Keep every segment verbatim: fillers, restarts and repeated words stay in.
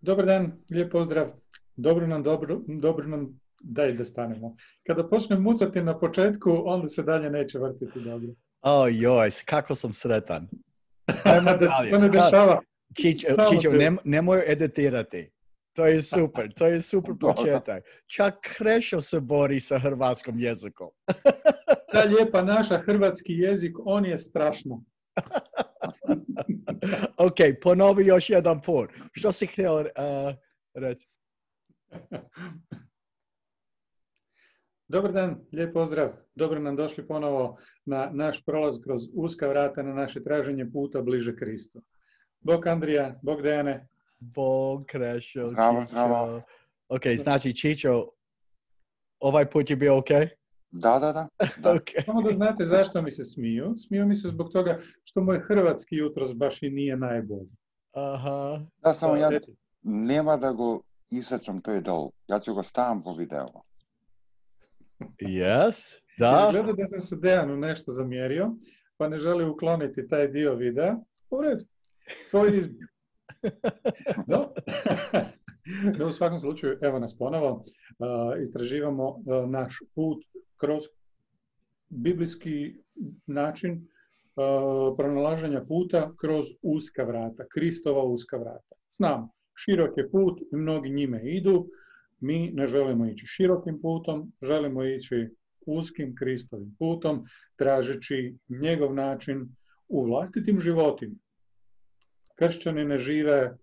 Dobar dan, lijep pozdrav. Dobro nam, dobro, dobro nam, daj da stanemo. Kada počnem mucati na početku, onda se dalje neće vrtiti dobro. O joj, kako sam sretan. Ajmo Da se dalje. to ne dešava. Čičo, Samo Čičo te- nem, nemoj editirati. To je super, to je super početak. Čak Krešo se bori sa hrvatskom jezikom. Ta lijepa naša hrvatski jezik, on je strašno. Ok, ponovi još jedan put. Što si htio uh, reći? Dobar dan, lijep pozdrav. Dobro nam došli ponovo na naš prolaz kroz uska vrata na naše traženje puta bliže Kristu. Bog Andrija, Bog Dejane. Bog, Krešo, Zdravo, Čičo. zdravo. Ok, znači Čičo, ovaj put je bio ok? Da, da, da. da. Ok. Samo da znate zašto mi se smiju. Smiju mi se zbog toga što moj hrvatski jutros baš i nije najbolji. Aha. Da, samo ja Reci. nema da go isečem to je dol. Ja ću go stavim po videu. Yes, da. Gleda da sam se Dejanu nešto zamjerio, pa ne želi ukloniti taj dio videa. U redu, tvoj izbor. No. No, u svakom slučaju, evo nas ponovo. Uh, istraživamo uh, naš put kroz biblijski način uh, pronalaženja puta kroz uska vrata, Kristova uska vrata. Znamo, širok je put i mnogi njime idu. Mi ne želimo ići širokim putom, želimo ići uskim Kristovim putom, tražeći njegov način u vlastitim životima. Kršćani ne žive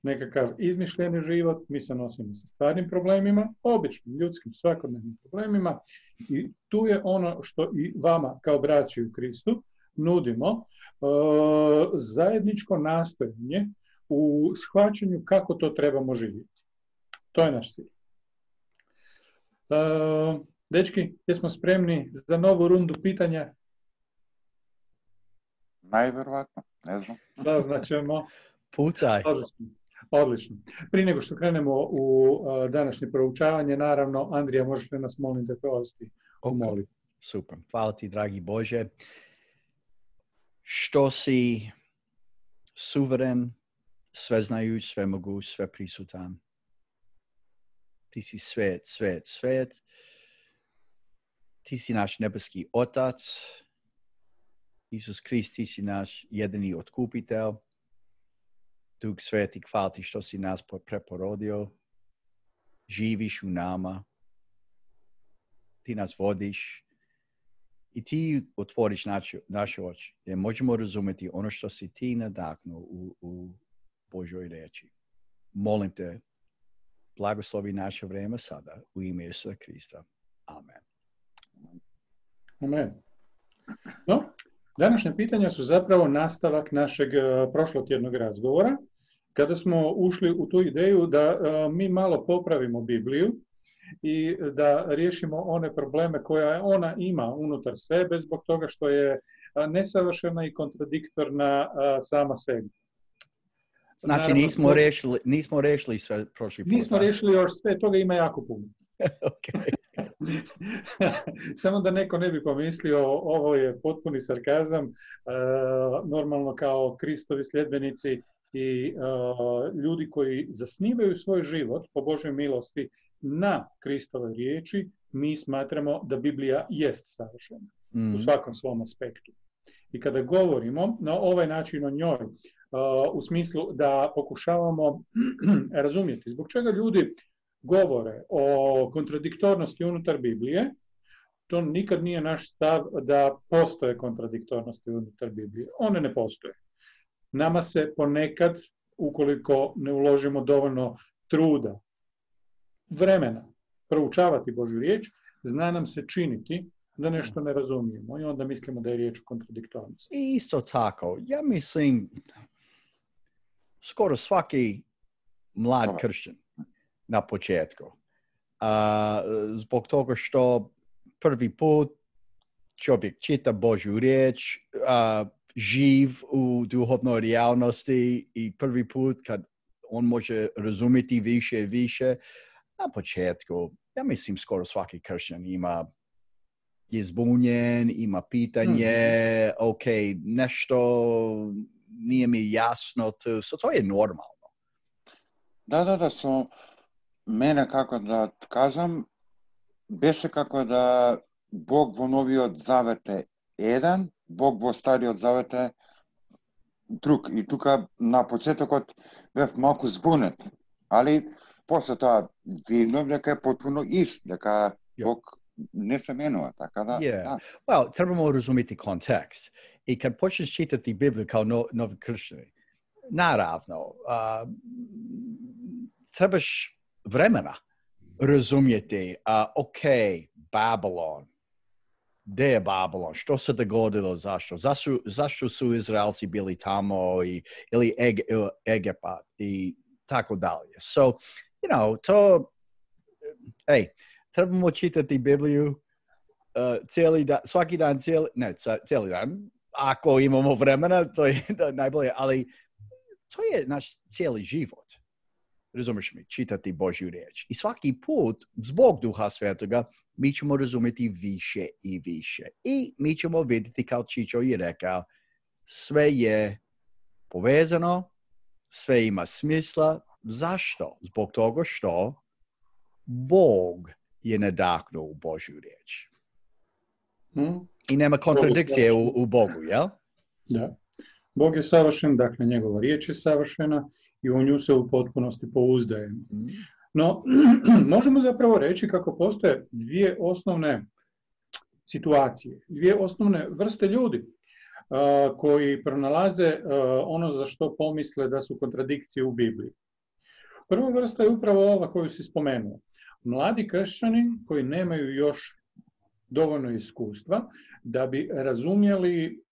nekakav izmišljeni život, mi se nosimo sa stvarnim problemima, običnim, ljudskim, svakodnevnim problemima i tu je ono što i vama kao braći u Kristu nudimo, uh, zajedničko nastojanje u shvaćanju kako to trebamo živjeti. To je naš cilj. Uh, dečki, jesmo spremni za novu rundu pitanja? Najvjerovatno, ne znam. Da, značemo. Pucaj. Odlično. Odlično. Prije nego što krenemo u uh, današnje proučavanje, naravno, Andrija, možeš li nas molim da provesti u Ok. molitvi? Super. Hvala ti, dragi Bože, što si suveren, sveznajuć, svemoguć, sveprisutan. Ti si svet, svet, svet. Ti si naš nebeski Otac. Isus Krist, ti si naš jedini otkupitelj. Duh Sveti, hvala ti što si nas preporodio. Živiš u nama. Ti nas vodiš. I ti otvoriš naše, naše oči. Jer možemo razumjeti ono što si ti nadahnuo u, u Božoj riječi. Molim te, blagoslovi naše vrijeme sada u ime Isusa Krista. Amen. Amen. No, današnje pitanja su zapravo nastavak našeg uh, prošlotjednog razgovora, kada smo ušli u tu ideju da uh, mi malo popravimo Bibliju i da riješimo one probleme koje ona ima unutar sebe zbog toga što je uh, nesavršena i kontradiktorna uh, sama sebi. Znači Naravno, nismo rešili, nismo rešili sve prošli put. Nismo riješili još sve, toga ima jako puno. Okay. Samo da neko ne bi pomislio, ovo je potpuni sarkazam, e, normalno kao Kristovi sljedbenici i e, ljudi koji zasnivaju svoj život po Božoj milosti na Kristovoj riječi, mi smatramo da Biblija jest savršena mm. u svakom svom aspektu. I kada govorimo na ovaj način o njoj, e, u smislu da pokušavamo razumjeti zbog čega ljudi govore o kontradiktornosti unutar Biblije, to nikad nije naš stav da postoje kontradiktornosti unutar Biblije. One ne postoje. Nama se ponekad, ukoliko ne uložimo dovoljno truda, vremena, proučavati Božju riječ, zna nam se činiti da nešto ne razumijemo i onda mislimo da je riječ o kontradiktornosti. I isto tako, ja mislim, skoro svaki mlad kršćan na početku. Uh, zbog toga što prvi put čovjek čita Božju riječ, uh, živ u duhovnoj realnosti i prvi put kad on može razumjeti više i više, na početku, ja mislim skoro svaki kršćan ima je zbunjen, ima pitanje, mm-hmm. ok, nešto nije mi jasno, to, so to je normalno. Да, да, да, со мене, како да кажам, беше како да Бог во Новиот Завет е еден, Бог во Стариот Завет е друг. И тука на почетокот бев малку збунет, али после тоа виднав дека е потпуно ист, дека Бог не се менува, така да. Yeah. Да. Well, trebamo razumjeti kontekst. I kad počneš čitati Bibliju kao no, novi kršćani, naravno, uh, trebaš vremena razumjeti, uh, ok, Babylon, gdje je Babylon, što se dogodilo, zašto? Zašto, zašto su Izraelci bili tamo i, ili Eg, Egipat i tako dalje. So, you know, to, hey, trebamo čitati Bibliju uh, cijeli dan, svaki dan, cijeli, ne, cijeli dan, ako imamo vremena, to je najbolje, ali to je naš cijeli život. Razumiješ mi, čitati Božju riječ. I svaki put, zbog Duha Svetoga, mi ćemo razumjeti više i više. I mi ćemo vidjeti, kao Čičo je rekao, sve je povezano, sve ima smisla. Zašto? Zbog toga što Bog je nadahnuo u Božju riječ. Hmm? I nema kontradikcije u, u Bogu, jel? Da. Bog je savršen, dakle njegova riječ je savršena i u nju se u potpunosti pouzdajemo. No, možemo zapravo reći kako postoje dvije osnovne situacije, dvije osnovne vrste ljudi uh, koji pronalaze uh, ono za što pomisle da su kontradikcije u Bibliji. Prva vrsta je upravo ova koju si spomenuo. Mladi kršćani koji nemaju još dovoljno iskustva da bi razumjeli,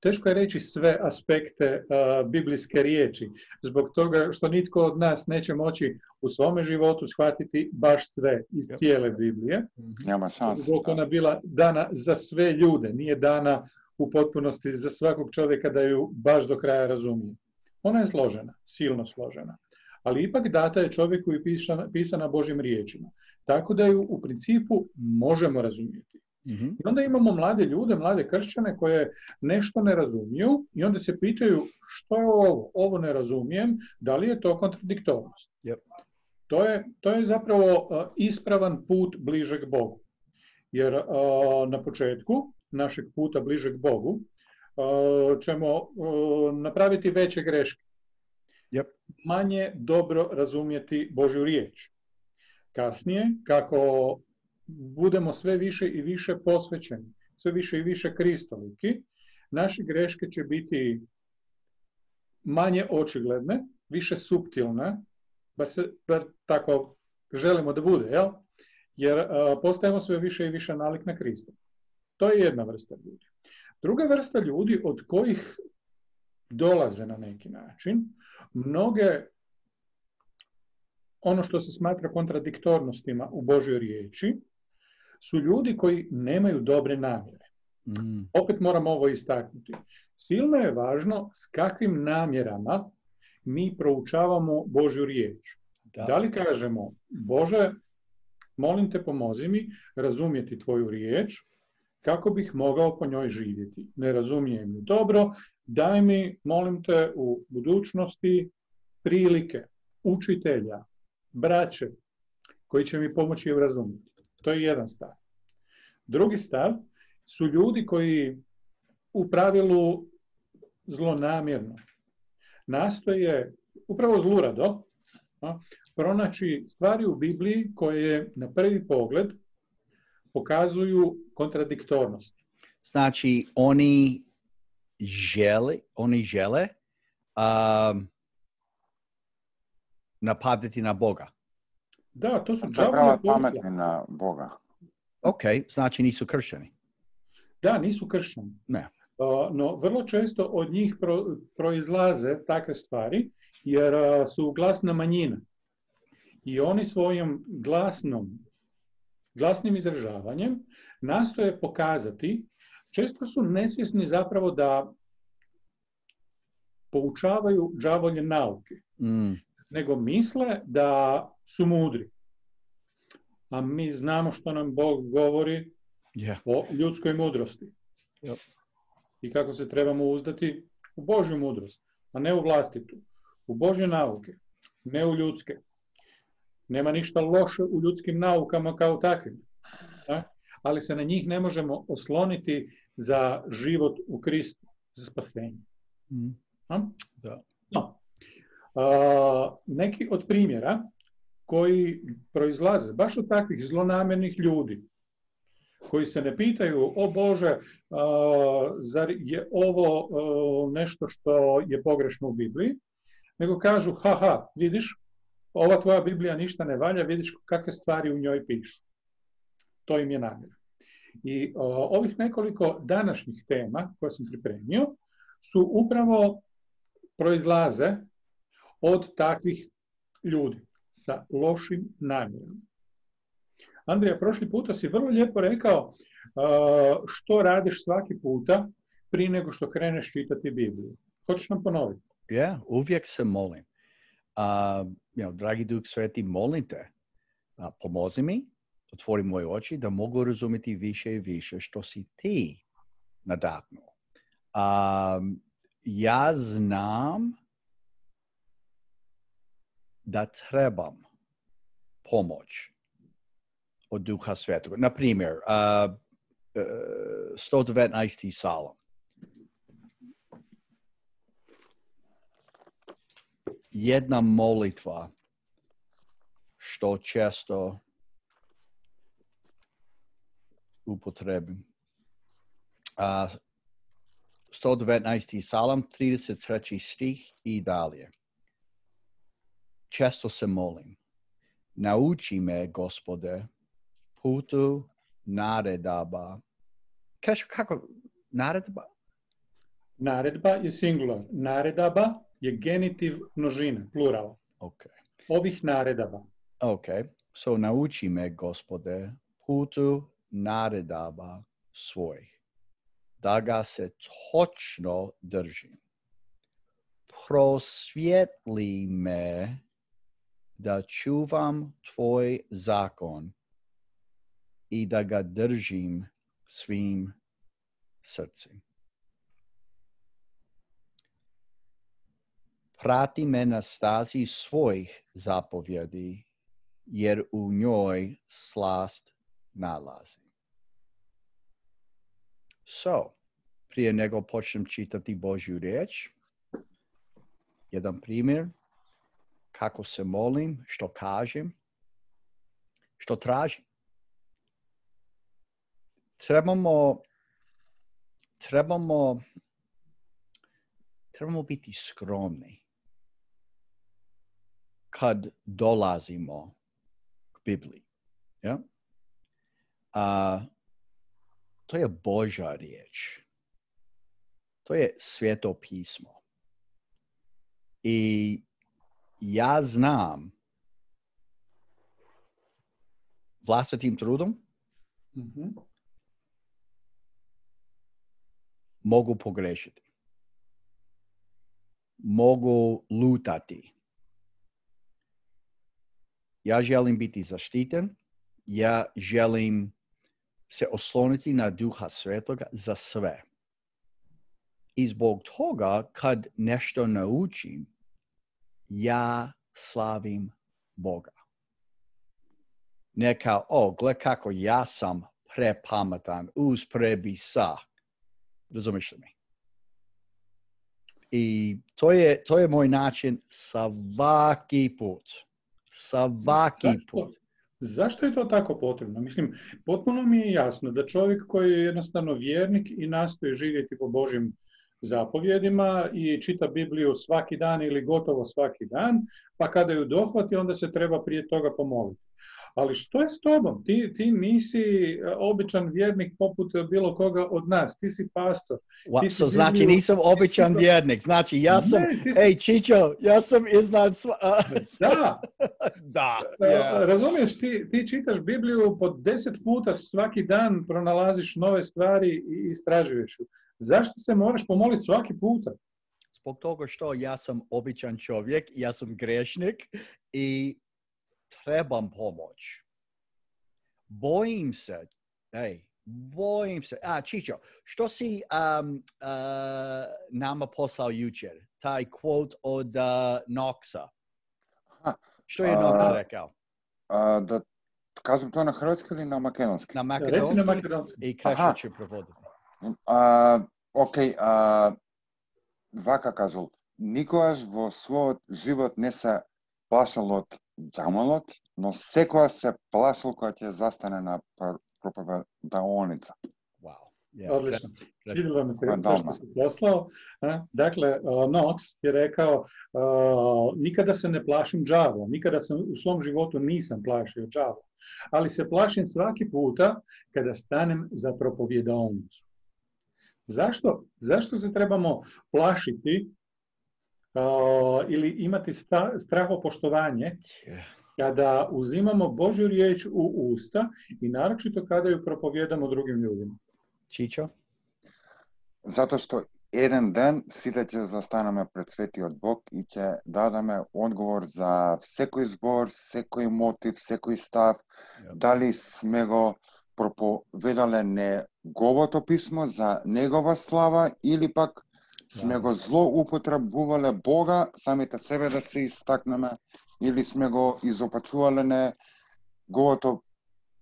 teško je reći sve aspekte uh, biblijske riječi, zbog toga što nitko od nas neće moći u svome životu shvatiti baš sve iz cijele Biblije. Nema šanse. Zbog ona bila dana za sve ljude, nije dana u potpunosti za svakog čovjeka da ju baš do kraja razumije. Ona je složena, silno složena, ali ipak data je čovjeku i pisana, pisana Božjim riječima, tako da ju u principu možemo razumjeti. Mm-hmm. I onda imamo mlade ljude, mlade kršćane koje nešto ne razumiju i onda se pitaju što je ovo, ovo ne razumijem, da li je to kontradiktornost. Yep. To je, to je zapravo uh, ispravan put bližeg Bogu. Jer uh, na početku našeg puta bližeg Bogu uh, ćemo uh, napraviti veće greške. Yep. Manje dobro razumjeti Božju riječ. Kasnije, kako budemo sve više i više posvećeni, sve više i više kristoliki, naše greške će biti manje očigledne, više suptilne, bar, se, bar tako želimo da bude, jel? Jer a, postajemo sve više i više nalik na Krista. To je jedna vrsta ljudi. Druga vrsta ljudi od kojih dolaze na neki način, mnoge ono što se smatra kontradiktornostima u Božjoj riječi, su ljudi koji nemaju dobre namjere. Mm. Opet moram ovo istaknuti. Silno je važno s kakvim namjerama mi proučavamo Božju riječ. Da, da li kažemo, Bože, molim te pomozi mi razumjeti tvoju riječ kako bih mogao po njoj živjeti. Ne razumijem ju dobro, daj mi, molim te, u budućnosti prilike, učitelja, braće, koji će mi pomoći ju razumjeti. To je jedan stav. Drugi stav su ljudi koji u pravilu zlonamjerno nastoje, upravo zlurado, a, pronaći stvari u Bibliji koje na prvi pogled pokazuju kontradiktornost. Znači, oni žele, oni žele um, napadati na Boga. Da, to su zapravo pametni na Boga. Ok, znači nisu kršćani. Da, nisu kršćani. Ne. Uh, no, vrlo često od njih pro, proizlaze takve stvari, jer uh, su glasna manjina. I oni svojim glasnom, glasnim izražavanjem nastoje pokazati, često su nesvjesni zapravo da poučavaju đavolje nauke. Mm. Nego misle da su mudri. A mi znamo što nam Bog govori yeah. o ljudskoj mudrosti. Yep. I kako se trebamo uzdati u Božju mudrost, a ne u vlastitu. u Božje nauke, ne u ljudske. Nema ništa loše u ljudskim naukama kao takvim. Da? Ali se na njih ne možemo osloniti za život u Kristu, za spasenje. Mm. Da. No. A, neki od primjera koji proizlaze baš od takvih zlonamjernih ljudi, koji se ne pitaju, o Bože, a, zar je ovo a, nešto što je pogrešno u Bibliji, nego kažu, haha, vidiš, ova tvoja Biblija ništa ne valja, vidiš kakve stvari u njoj pišu. To im je namjera. I a, ovih nekoliko današnjih tema koje sam pripremio su upravo proizlaze od takvih ljudi sa lošim namjerama. Andrija, prošli puta si vrlo lijepo rekao uh, što radiš svaki puta prije nego što kreneš čitati Bibliju. Hoćeš nam ponoviti? Ja, yeah, uvijek se molim. Uh, you know, dragi Duh Sveti, molim te, uh, pomozi mi, otvori moje oči da mogu razumjeti više i više što si ti nadahnuo. Um, ja znam da trebam pomoć od Duha Svetog. Na primjer, uh, uh, sto devetnaesti Psalam. Jedna molitva što često upotrebim. Uh, sto devetnaesti Psalam, trideset treći stih i dalje. Često se molim. Nauči me, Gospode, putu naredaba. Kažeš kako? Naredba? Naredba je singular. Naredaba je genitiv množina, plural. Okay. Ovih naredaba. Ok. So nauči me, Gospode, putu naredaba svojih. Da ga se točno držim. Prosvijetli me da čuvam tvoj zakon i da ga držim svim srcem. Prati me na stazi svojih zapovjedi, jer u njoj slast nalazi. So, prije nego počnem čitati Božju riječ, jedan primjer, kako se molim, što kažem, što tražim. Trebamo, trebamo, trebamo biti skromni kad dolazimo k Bibliji. Ja? A, to je Božja riječ. To je Sveto pismo. I ja znam vlastitim trudom Mm-hmm. mogu pogrešiti. Mogu lutati. Ja želim biti zaštiten. Ja želim se osloniti na Duha Svetoga za sve. I zbog toga, kad nešto naučim, ja slavim Boga. Ne kao, o, gle kako ja sam prepametan, uz prebisa. Razumiješ li mi? I to je, to je moj način svaki put. Svaki Zašto? put. Zašto je to tako potrebno? Mislim, potpuno mi je jasno da čovjek koji je jednostavno vjernik i nastoji živjeti po Božjim zapovjedima i čita Bibliju svaki dan ili gotovo svaki dan, pa kada ju dohvati, onda se treba prije toga pomoliti. Ali što je s tobom? Ti, ti nisi običan vjernik poput bilo koga od nas. Ti si pastor. What? Ti si So znači Bibliju... nisam običan vjernik. Znači ja sam, Ne, si... ej Čičo, ja sam iznad sva... Da. Da. Yeah. Razumiješ, ti, ti čitaš Bibliju po deset puta svaki dan, pronalaziš nove stvari i istražuješ ju. Zašto se moraš pomoliti svaki puta? Zbog toga što ja sam običan čovjek, ja sam grešnik i trebam pomoć. Bojim se, ej, bojim se. A, Čičo, što si um, uh, nama poslao jučer? Taj quote od uh, Knoxa. Aha, Što je Knox a, rekao? a, da kažem to na hrvatski ili na makedonski? Na Reci na makedonski makedonski. i Krešo će prevoditi. А, окей, а, вака кажал, никогаш во својот живот не се плашал од ѓамалот, но секогаш се плашал кога ќе застане на проповедаоница. Wow. Yeah, Odlično. Krešo. Svidjelo mi se Koja to dama. što si poslao. a? Dakle, uh, Knox je rekao, uh, nikada se ne plašim đavola, nikada se u svom životu nisam plašio đavola, ali se plašim svaki puta kada stanem za propovjedaonicu. Zašto? Zašto se trebamo plašiti uh, ili imati sta, strahopoštovanje Yeah. kada uzimamo Božju riječ u usta i naročito kada ju propovjedamo drugim ljudima? Čičo? Затоа што еден ден сите ќе застанеме пред светиот Бог и ќе дадеме одговор за секој збор, секој мотив, секој став, Yep. дали сме го проповедале неговото писмо за негова слава или пак сме Да. го злоупотребувале Бога, самите себе да се истакнеме, или сме го изопачувале неговото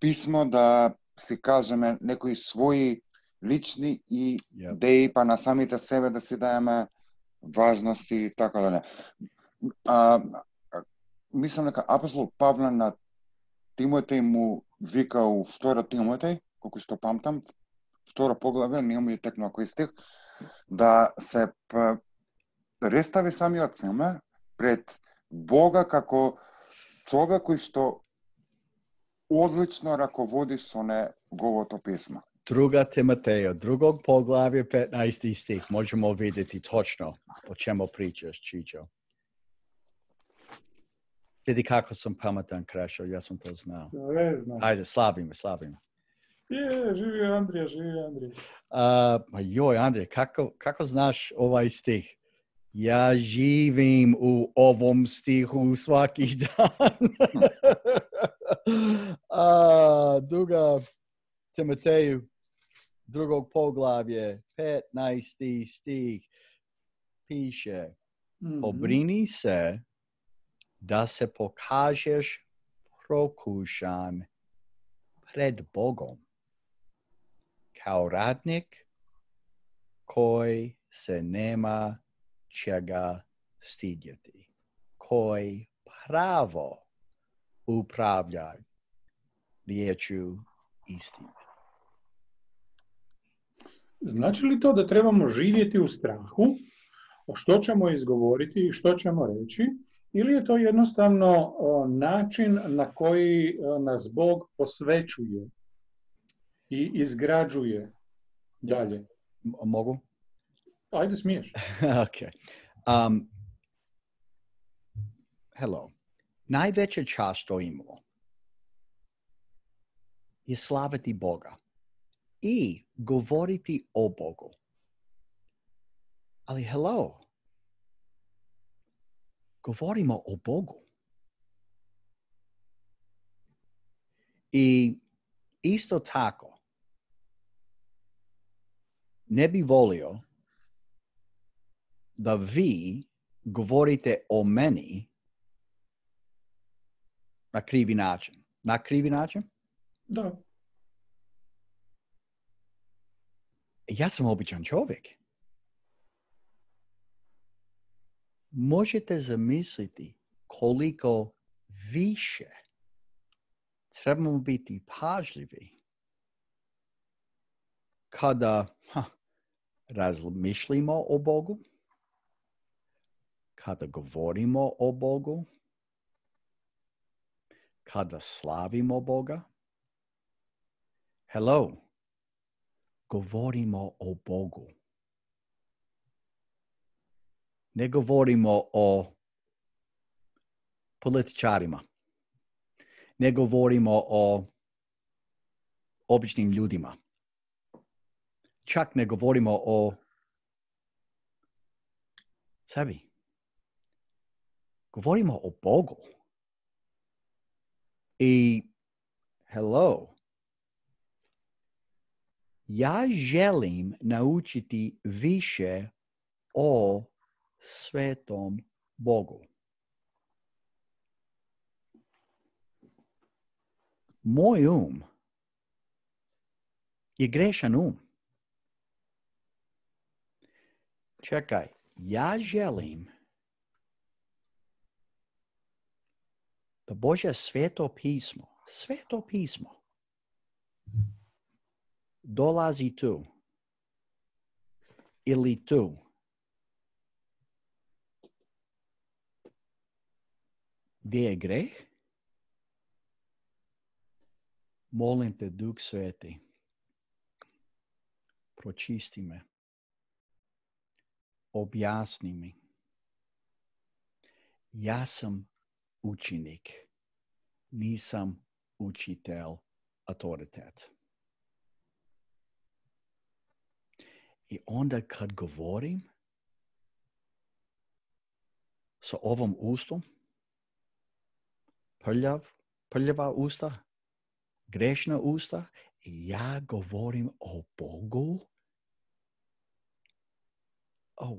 писмо да си кажеме некои своји лични и Yep. идеи, па на самите себе да си даеме важности и така да не. А, а, мислам дека апостол Павле на Тимотеј му вика у втора Тимотеј, колку што памтам, втора поглаве, не му е текнува кој стих, да се представи самиот себе пред Бога како човек кој што одлично раководи со неговото писмо. Druga Timoteja, drugog poglavlja petnaesti stih. Možemo vidjeti točno o čemu pričaš, Čičo. Vidi kako sam pametan, Krešo, ja sam to znao. Sve znam. Ajde, slabi me, slabi me. Je, živio Andrija, živio Andrija. Uh, ma joj, Andrej, kako, kako znaš ovaj stih? Ja živim u ovom stihu svaki dan. A, druga Timoteju, drugog poglavlje, petnaesti stih, piše, Mhm. pobrini se da se pokažeš prokušan pred Bogom kao radnik koji se nema čega stidjeti, koji pravo upravlja riječju istine. Znači li to da trebamo živjeti u strahu, o što ćemo izgovoriti i što ćemo reći, ili je to jednostavno o, način na koji o, nas Bog posvećuje i izgrađuje dalje? M- mogu? Ajde, smiješ. Okay. Um, hello. Najveća čast što imamo je slaviti Boga i govoriti o Bogu. Ali hello, govorimo o Bogu. I isto tako, ne bi volio da vi govorite o meni na krivi način. Na krivi način? Da. Ja sam običan čovjek. Možete zamisliti koliko više trebamo biti pažljivi kada ha, razmišljamo o Bogu, kada govorimo o Bogu, kada slavimo Boga. Hello, govorimo o Bogu. Ne govorimo o političarima. Ne govorimo o običnim ljudima. Čak ne govorimo o sebi. Govorimo o Bogu. I hello, Ja želim naučiti više o svetom Bogu. Moj um je grešan um. Čekaj, ja želim da Božje sveto pismo, sveto pismo, dolazi tu ili tu. Gdje je greh? Molim te, Duh Sveti, pročisti me, objasni mi. Ja sam učenik, nisam učitelj, autoritet. I onda kad govorim sa ovom ustom, prljav, prljava usta, grešna usta, i ja govorim o Bogu. Oh.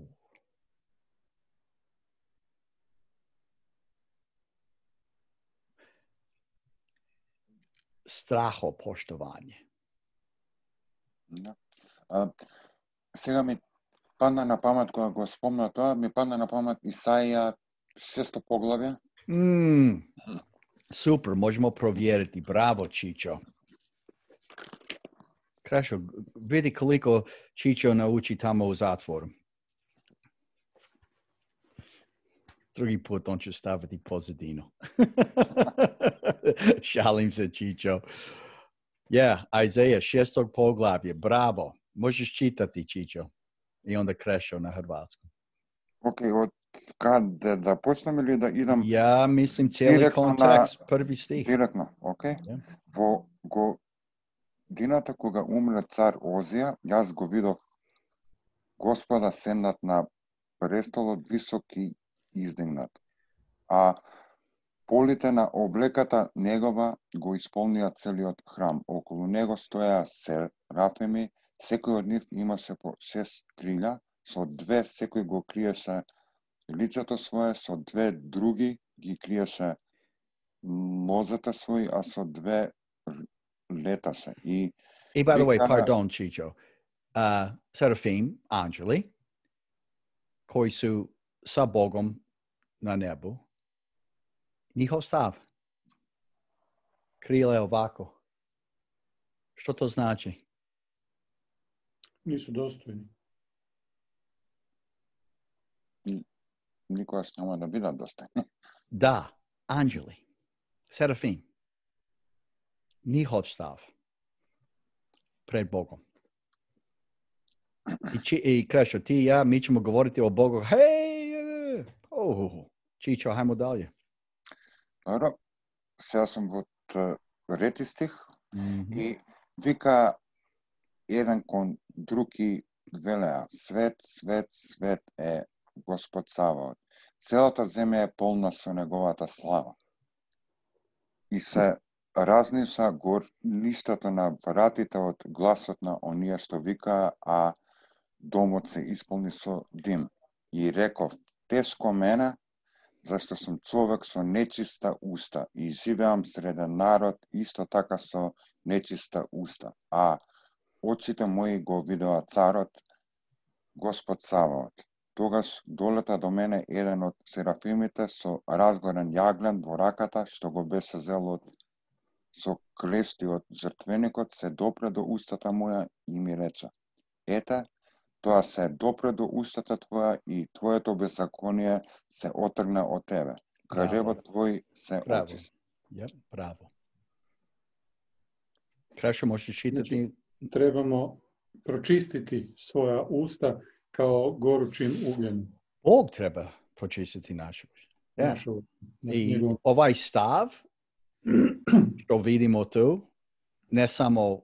Strahopoštovanje. Да. А, сега ми падна на памет, кога го спомна тоа, ми падна на памет Исаија шесто поглавје. Mm. Super, možemo provjeriti. Bravo, Čičo. Krešo, vidi koliko Čičo nauči tamo u zatvoru. Drugi put on će staviti pozadinu. Šalim se, Čičo. Ja, yeah, Izaija šestog poglavlje. Bravo. Možeš čitati, Čičo. I onda Krešo na hrvatskom. Ok, od kada da počnem ili da idem? Ja mislim cijeli kontekst, na, prvi stih. Direktno, ok. Yeah. Во годината кога умре цар Озија, јас го видов Господа седнат на престолот висок и издигнат, а полите на облеката негова го исполнија целиот храм. Околу него стоја серафими, секој од нив имаше по шест крилја, со две секој го криеше лицето свое, со две други ги криеше нозете своји, а со две леташе. И, и by the way, pardon, Chicho, uh, Serafim, ангели, кои су са Богом на небу, njihov stav, krile ovako. Što to znači? Nisu dostojni. Никогаш нема да бидат достојни. Да, ангели, Serafim, njihov stav pred Bogom. I, či, i Krešo, ti i ja, mi ćemo govoriti o Bogu. Hej, oh, Čičo, hajmo dalje. Dobro, сега сум во трети стих mm-hmm. и вика еден кон други велеа, свет, свет, свет е Господ Саваот. Целата земја е полна со неговата слава. И се разниша горништата на вратите од гласот на оние што викаа, а домот се исполни со дим. И реков, тешко мене, зашто сум човек со нечиста уста и живеам среде народ исто така со нечиста уста, а очите мои го видеа царот, Господ Саваот. Тогаш долета до мене еден од серафимите со разгорен јаглен во раката, што го беше зел од со клешти од жртвеникот, се допре до устата моја и ми рече, ете, тоа се допре до устата твоја и твоето беззаконие се отргна од тебе. Кревот твој се очисти. Yep, браво. Крашо, можеш читати? Znači, trebamo pročistiti svoja usta kao gorućim ugljenom. Bog treba pročistiti naše usta. Yeah. Našu, na, I njegov... ovaj stav, što vidimo tu, ne samo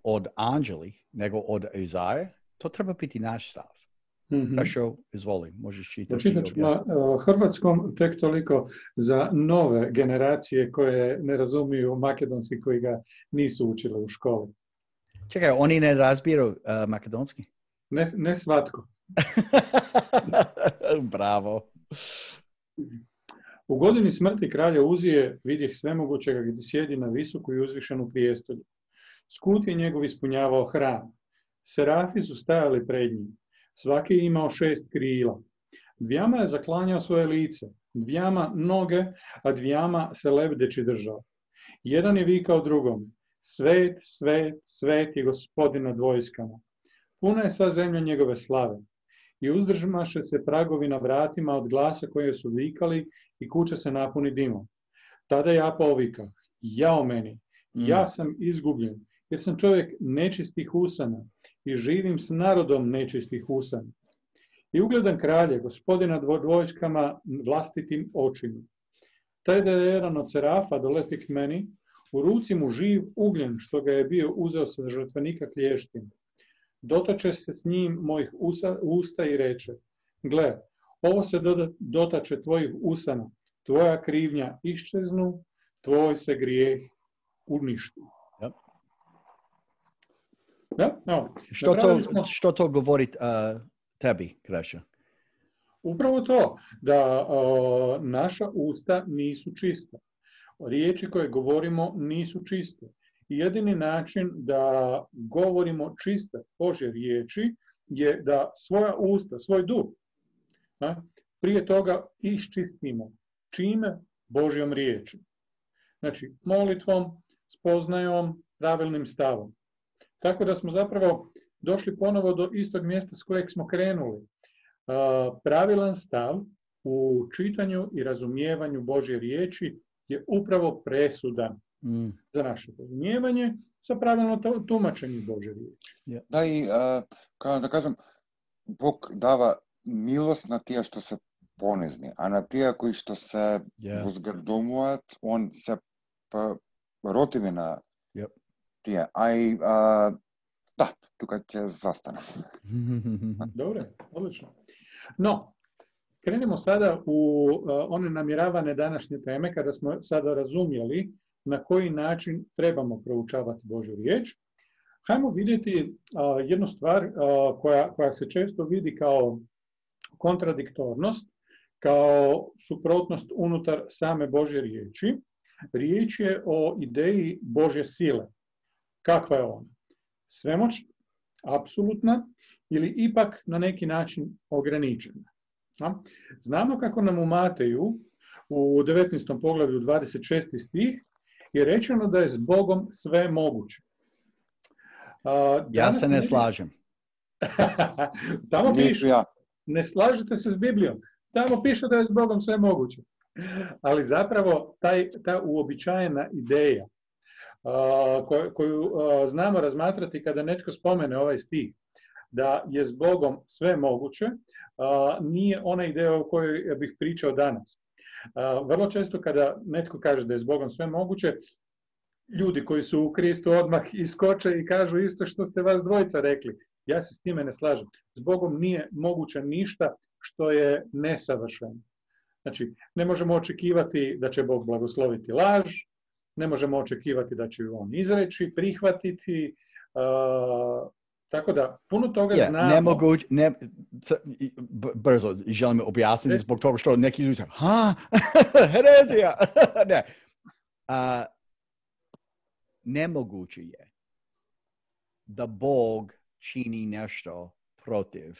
od anđeli, nego od Izaije, to treba biti naš stav. Mm-hmm. Krešo, izvoli, možeš čitati. Pročitat ću na uh, hrvatskom tek toliko za nove generacije koje ne razumiju makedonski, koji ga nisu učile u školi. Čekaj, oni ne razbiru uh, makedonski? Ne, ne svatko. Bravo. U godini smrti kralja Uzije vidjeh svemogućega gdje sjedi na visoku i uzvišenu prijestolju. Skut je njegov ispunjavao hram. Serafi su stajali pred njim. Svaki je imao šest krila. Dvijama je zaklanjao svoje lice, dvijama noge, a dvijama se lebdeći držao. Jedan je vikao drugom: Svet, svet, svet je Gospodin nad vojskama. Puna je sva zemlja njegove slave. I uzdržmaše se pragovi na vratima od glasa koje su vikali i kuća se napuni dimom. Tada ja povikah: Jao meni, ja sam izgubljen, jer sam čovjek nečistih usana i živim s narodom nečistih usana. I ugledam kralje, Gospodina nad vojskama vlastitim očima. Taj da je jedan od serafa doleti k meni, u ruci mu živ ugljen, što ga je bio uzeo sa žrtvenika klještima. Dotače se s njim mojih usa, usta i reče: Gle, ovo se dotače tvojih usana, tvoja krivnja iščeznu, tvoj se grijeh uništi. Yep. Da? No. Što, to, smo... što to govori uh, tebi, Krešo? Upravo to, da uh, naša usta nisu čista. Riječi koje govorimo nisu čiste. I jedini način da govorimo čiste Božje riječi je da svoja usta, svoj duh, a, prije toga iščistimo. Čime? Božjom riječi. Znači, molitvom, spoznajom, pravilnim stavom. Tako da smo zapravo došli ponovo do istog mjesta s kojeg smo krenuli. A, pravilan stav u čitanju i razumijevanju Božje riječi je upravo presudan mm. za naše razumijevanje sa pravilno tumačenje Božje riječi. Yeah. Da i, uh, kao da kažem, Bog dava milost na tije što se ponizni, a na tije koji što se yeah. uzgrdomuat, on se pa, rotivi na yep. tije. A i, uh, da, tukaj će zastanem. Dobro, odlično. No, krenimo sada u uh, one namjeravane današnje teme, kada smo sada razumjeli na koji način trebamo proučavati Božju riječ. Hajmo vidjeti uh, jednu stvar uh, koja, koja se često vidi kao kontradiktornost, kao suprotnost unutar same Božje riječi. Riječ je o ideji Božje sile. Kakva je ona? Svemoćna, apsolutna ili ipak na neki način ograničena? Znamo kako nam u Mateju u devetnaestom poglavlju dvadeset šesti stih je rečeno da je s Bogom sve moguće. A, ja se ne, ne slažem. Tamo piše, ne slažete se s Biblijom. Tamo piše da je s Bogom sve moguće. Ali zapravo taj, ta uobičajena ideja a, koju, koju a, znamo razmatrati kada netko spomene ovaj stih, da je s Bogom sve moguće, a, nije ona ideja o kojoj bih pričao danas. A, vrlo često kada netko kaže da je s Bogom sve moguće, ljudi koji su u Kristu odmah iskoče i kažu isto što ste vas dvojica rekli. Ja se s time ne slažem. S Bogom nije moguće ništa što je nesavršeno. Znači, ne možemo očekivati da će Bog blagosloviti laž, ne možemo očekivati da će ju on izreći, prihvatiti, uh, tako da puno toga yeah, znamo. Nemoguće, ne, brzo želim objasniti ne, zbog toga što neki ljudi kažu, ha, herezija. ne. Uh, nemoguće je da Bog čini nešto protiv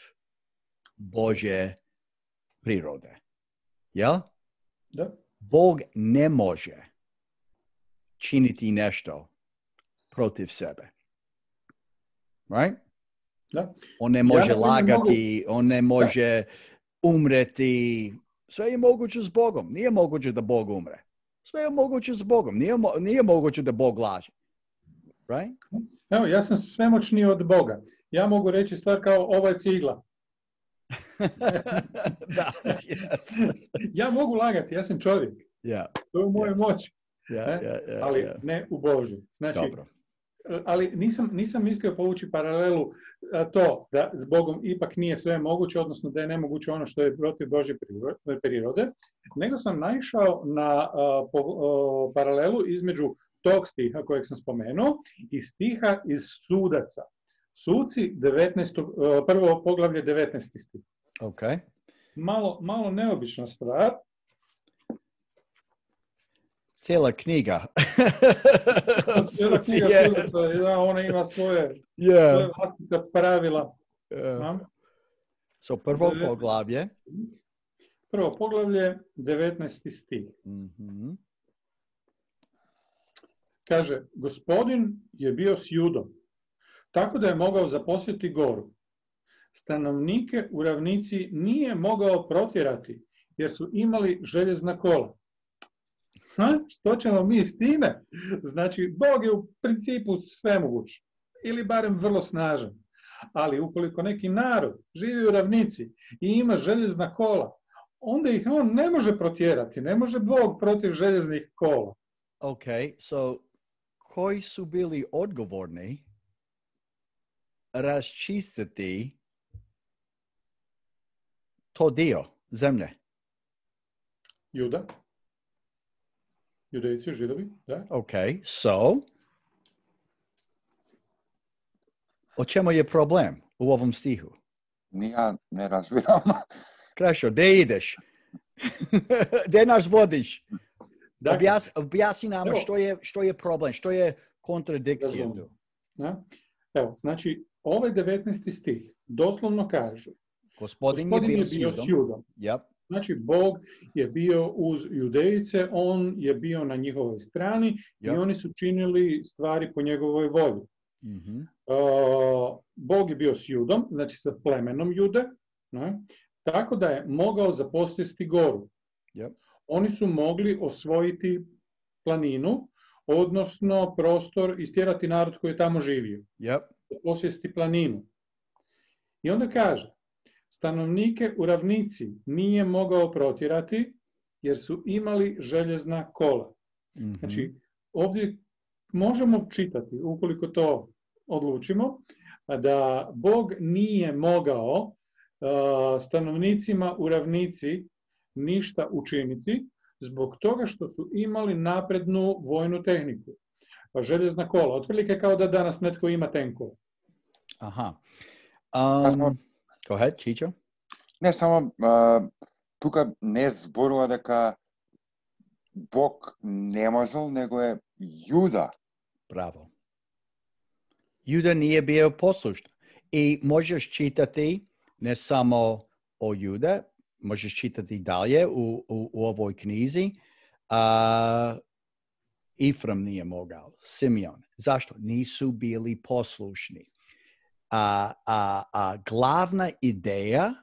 Božje prirode. Jel? Da. Bog ne može činiti nešto protiv sebe. Right? Da. On ne može ja lagati, mogu... on ne može da. umreti. Sve je moguće s Bogom. Nije moguće da Bog umre. Sve je moguće s Bogom. Nije, mo- nije moguće da Bog laže. Right? Evo, ja sam svemoćniji od Boga. Ja mogu reći stvar kao ova je cigla. da, yes. Ja mogu lagati, ja sam čovjek. Yeah. To je u mojoj yes. moći. Yeah, yeah, yeah, ali yeah. ne u Božju. Znači, Dobro. ali nisam, nisam mislio povući paralelu to da s Bogom ipak nije sve moguće, odnosno da je nemoguće ono što je protiv Božje prirode, nego sam naišao na uh, po, uh, paralelu između tog stiha kojeg sam spomenuo i stiha iz Sudaca. Suci, devetnaesto, uh, prvo poglavlje, devetnaesti stih. Okay. Malo, malo neobična stvar. Cijela knjiga. Cijela knjiga Sudaca, da, ona ima svoje, yeah. svoje vlastite pravila. Yeah. So prvo Devet... poglavlje. Prvo poglavlje, devetnaesti stih. Mm-hmm. Kaže, gospodin je bio s Judom, tako da je mogao zaposjeti goru. Stanovnike u ravnici nije mogao protjerati, jer su imali željezna kola. Ha? Što ćemo mi s time? Znači, Bog je u principu svemoguć, ili barem vrlo snažan. Ali ukoliko neki narod živi u ravnici i ima željezna kola, onda ih on ne može protjerati, ne može Bog protiv željeznih kola. Ok, so koji su bili odgovorni raščistiti to dio zemlje? Juda. Judejci, Židovi, da. Ok, so o čemu je problem u ovom stihu? Ja ne razbiram. Krešo, gdje ideš? Gdje nas vodiš? Dakle, Objas, objasni nam evo, što je, što je problem, što je kontradikcija tu. Ja? Evo, znači, ovaj devetnaesti stih doslovno kaže Gospodin, Gospodin je bio, je bio s s Judom. Judom. Yep. Znači, Bog je bio uz Judejice, on je bio na njihovoj strani Yep. i oni su činili stvari po njegovoj volji. Mm-hmm. Uh, Bog je bio s Judom, znači sa plemenom Jude, ne? Tako da je mogao zaposjesti goru. Yep. Oni su mogli osvojiti planinu, odnosno prostor, istjerati narod koji je tamo živio. Yep. Posjesti planinu. I onda kaže, stanovnike u ravnici nije mogao protjerati, jer su imali željezna kola. Mm-hmm. Znači, ovdje možemo čitati, ukoliko to odlučimo, da Bog nije mogao uh, stanovnicima u ravnici ništa učiniti, zbog toga što su imali naprednu vojnu tehniku. Željezna kola, otprilike kao da danas netko ima tenkova. Aha. Um, go ahead, Čičo. Не само а, тука не зборува дека Бог не можел, него е Јуда. Bravo. Juda nije bio poslušan. I možeš čitati ne samo o Juda, možeš čitati dalje u, u, u ovoj knjizi. Uh, Ifram nije mogao, Simeon. Zašto? Nisu bili poslušni. A, a, a glavna ideja,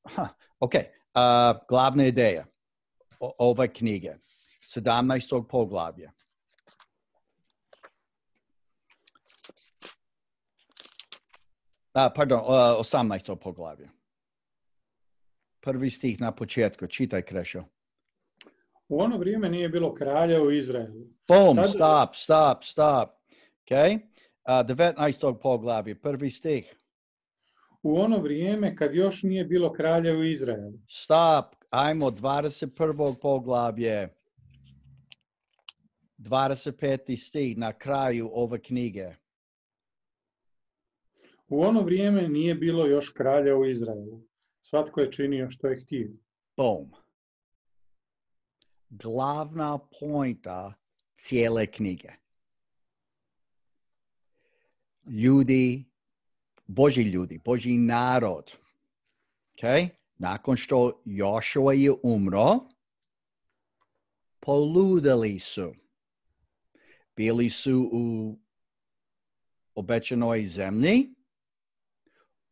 ha, ok, a, glavna ideja o, ove knjige, sedamnaestog poglavlja. A, pardon, osamnaestog poglavlja. Prvi stih na početku, čitaj, Krešo. U ono vrijeme nije bilo kralja u Izraelu. Boom, Tad... stop, stop, stop. Ok? Uh, devetnaestog poglavlja, prvi stih. U ono vrijeme kad još nije bilo kralja u Izraelu. Stop, ajmo, dvadeset prvog poglavlje. dvadeset peti stih na kraju ove knjige. U ono vrijeme nije bilo još kralja u Izraelu. Svatko je činio što je htio. Boom. Glavna pointa cijele knjige. Ljudi, Božji ljudi, Božji narod. Okay? Nakon što Jošua je umro, poludeli su. Bili su u obećanoj zemlji.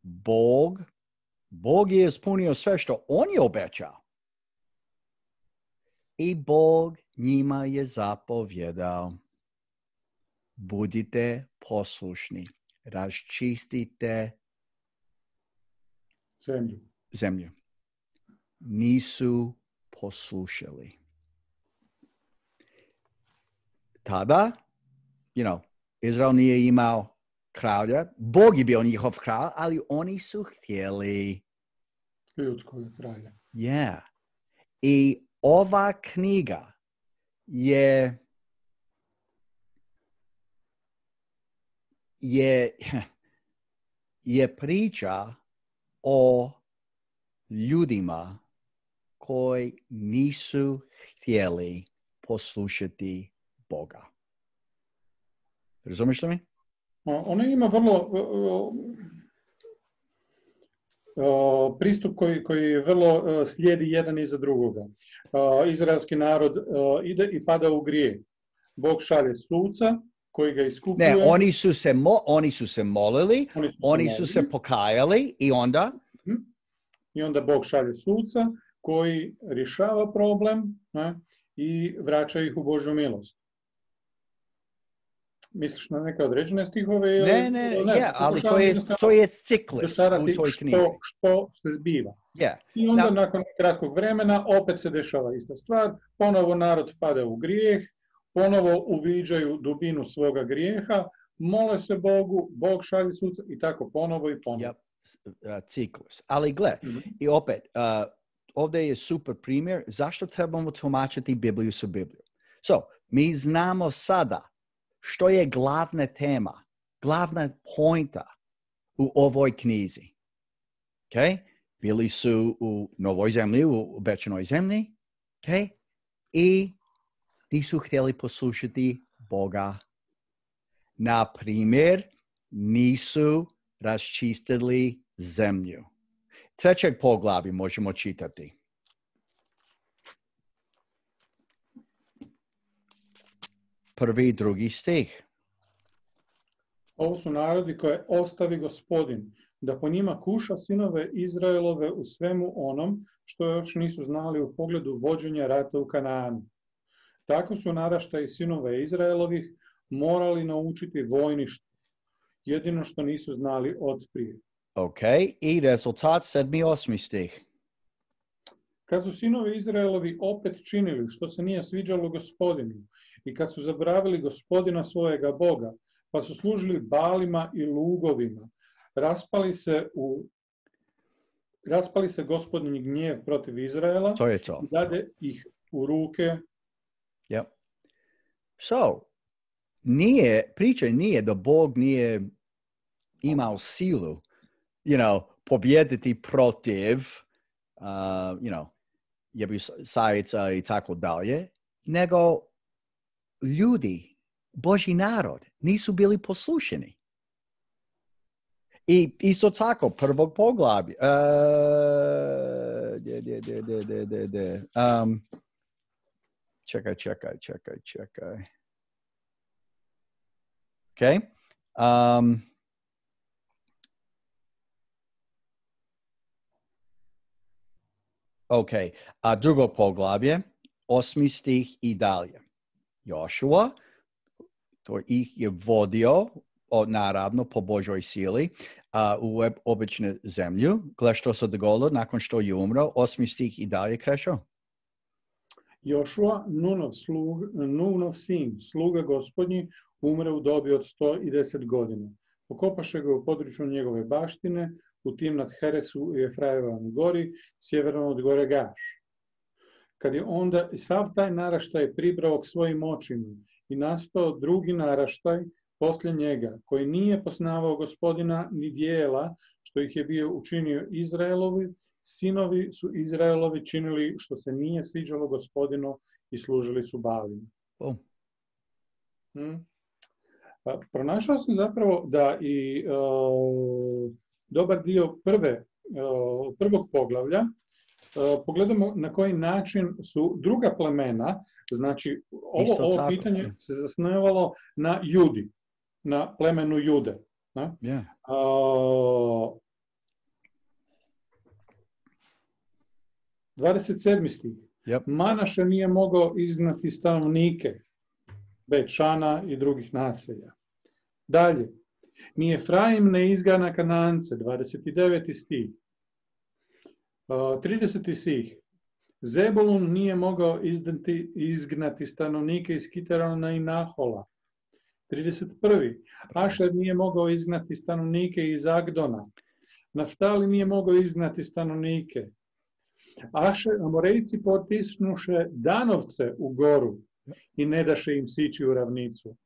Bog, Bog je ispunio sve što on je obećao. I Bog njima je zapovjedao. Budite poslušni, raščistite zemlju. zemlju. Nisu poslušali. Tada, you know, Izrael nije imao kralja. Bog je bio njihov kralj, ali oni su htjeli ljudskog kralja. Yeah. I ova knjiga je je je priča o ljudima koji nisu htjeli poslušati Boga. Razumiješ li mi? Ona ima vrlo uh, pristup koji, koji vrlo uh, slijedi jedan iza drugoga. Uh, izraelski narod uh, ide i pada u grijeh. Bog šalje suca koji ga iskupuje. Ne, oni su se, mo, oni su se molili, oni su se, oni su se pokajali i onda? I onda Bog šalje suca koji rješava problem, ne, i vraća ih u Božju milost. Misliš na neke određene stihove? Ili, ne, ne, ne, ja, ali to je, to je ciklus u toj knjizi. Što, što se zbiva. Yeah. I onda Now, nakon kratkog vremena opet se dešava ista stvar, ponovo narod pada u grijeh, ponovo uviđaju dubinu svoga grijeha, mole se Bogu, Bog šalje suca i tako ponovo i ponovo. Yep. Uh, ciklus. Ali gle, mm-hmm. i opet, uh, ovdje je super primjer zašto trebamo tumačiti Bibliju sa Biblijom. So, mi znamo sada što je glavna tema, glavna pointa u ovoj knjizi. Okay? Bili su u novoj zemlji, u obećanoj zemlji, okay? I nisu htjeli poslušati Boga. Na primjer, nisu raščistili zemlju. Trećeg poglavlja možemo čitati. Prvi i drugi stih. Ovo su narodi koje ostavi Gospodin, da po njima kuša sinove Izraelove u svemu onom što još nisu znali u pogledu vođenja rata u Kanaanu. Tako su naraštaji sinove Izraelovih morali naučiti vojništvo, jedino što nisu znali od prije. Ok, i rezultat sedmi osmi stih. Kad su sinovi Izraelovi opet činili što se nije sviđalo Gospodinu i kad su zaboravili Gospodina svojega Boga, pa su služili balima i lugovima, raspali se u raspali se Gospodin gnjev protiv Izraela, to je to. I dade ih u ruke. Yep. So, nije, priča nije da Bog nije imao silu, you know, pobjediti protiv, uh, you know, jebusajica i tako dalje, nego ljudi, Božji narod, nisu bili poslušani. I isto tako, prvog poglavlja, uh, de, de, de, de, de, de, de. Um, čekaj, čekaj, čekaj, čekaj. Okay. Um, ok, a drugo poglavlje, osmi stih i dalje. Jošua, to ih je vodio od, naravno po Božoj sili uh, u običnu zemlju. Gle što se dogodilo nakon što je umro, osmi stih i dalje krešao. Jošua, Nunov, slug, Nunov sin, sluga Gospodnji, umre u dobi od sto deset godina. Pokopaše ga u području njegove baštine, u Timnat Heresu i Efrajevom gori, sjeverno od gore Gaš. Kad je onda i sav taj naraštaj pribrao k svojim očima i nastao drugi naraštaj poslije njega, koji nije poznavao Gospodina ni dijela što ih je bio učinio Izraelovi, sinovi su Izraelovi činili što se nije sviđalo Gospodinu i služili su balima. Oh. Hmm. Pa, pronašao sam zapravo da i uh, dobar dio prve, uh, prvog poglavlja uh, pogledamo na koji način su druga plemena, znači ovo, ovo pitanje se zasnivalo na Judi, na plemenu Jude. Ne? Yeah. Uh, dvadeset sedmi stih. Yep. Manaše nije mogao izgnati stanovnike Bet-Šana i drugih naselja. Dalje. Ni Efraim ne izgana Kanance, dvadeset deveti stih. Uh, trideseti stih. Zebulun nije mogao izdati, izgnati stanovnike iz Kitarona i Nahola. trideset prvi Ašer nije mogao izgnati stanovnike iz Agdona. Naftali nije mogao izgnati stanovnike. Ašer, Amorejci potisnuše Danovce u goru i ne daše im sići u ravnicu.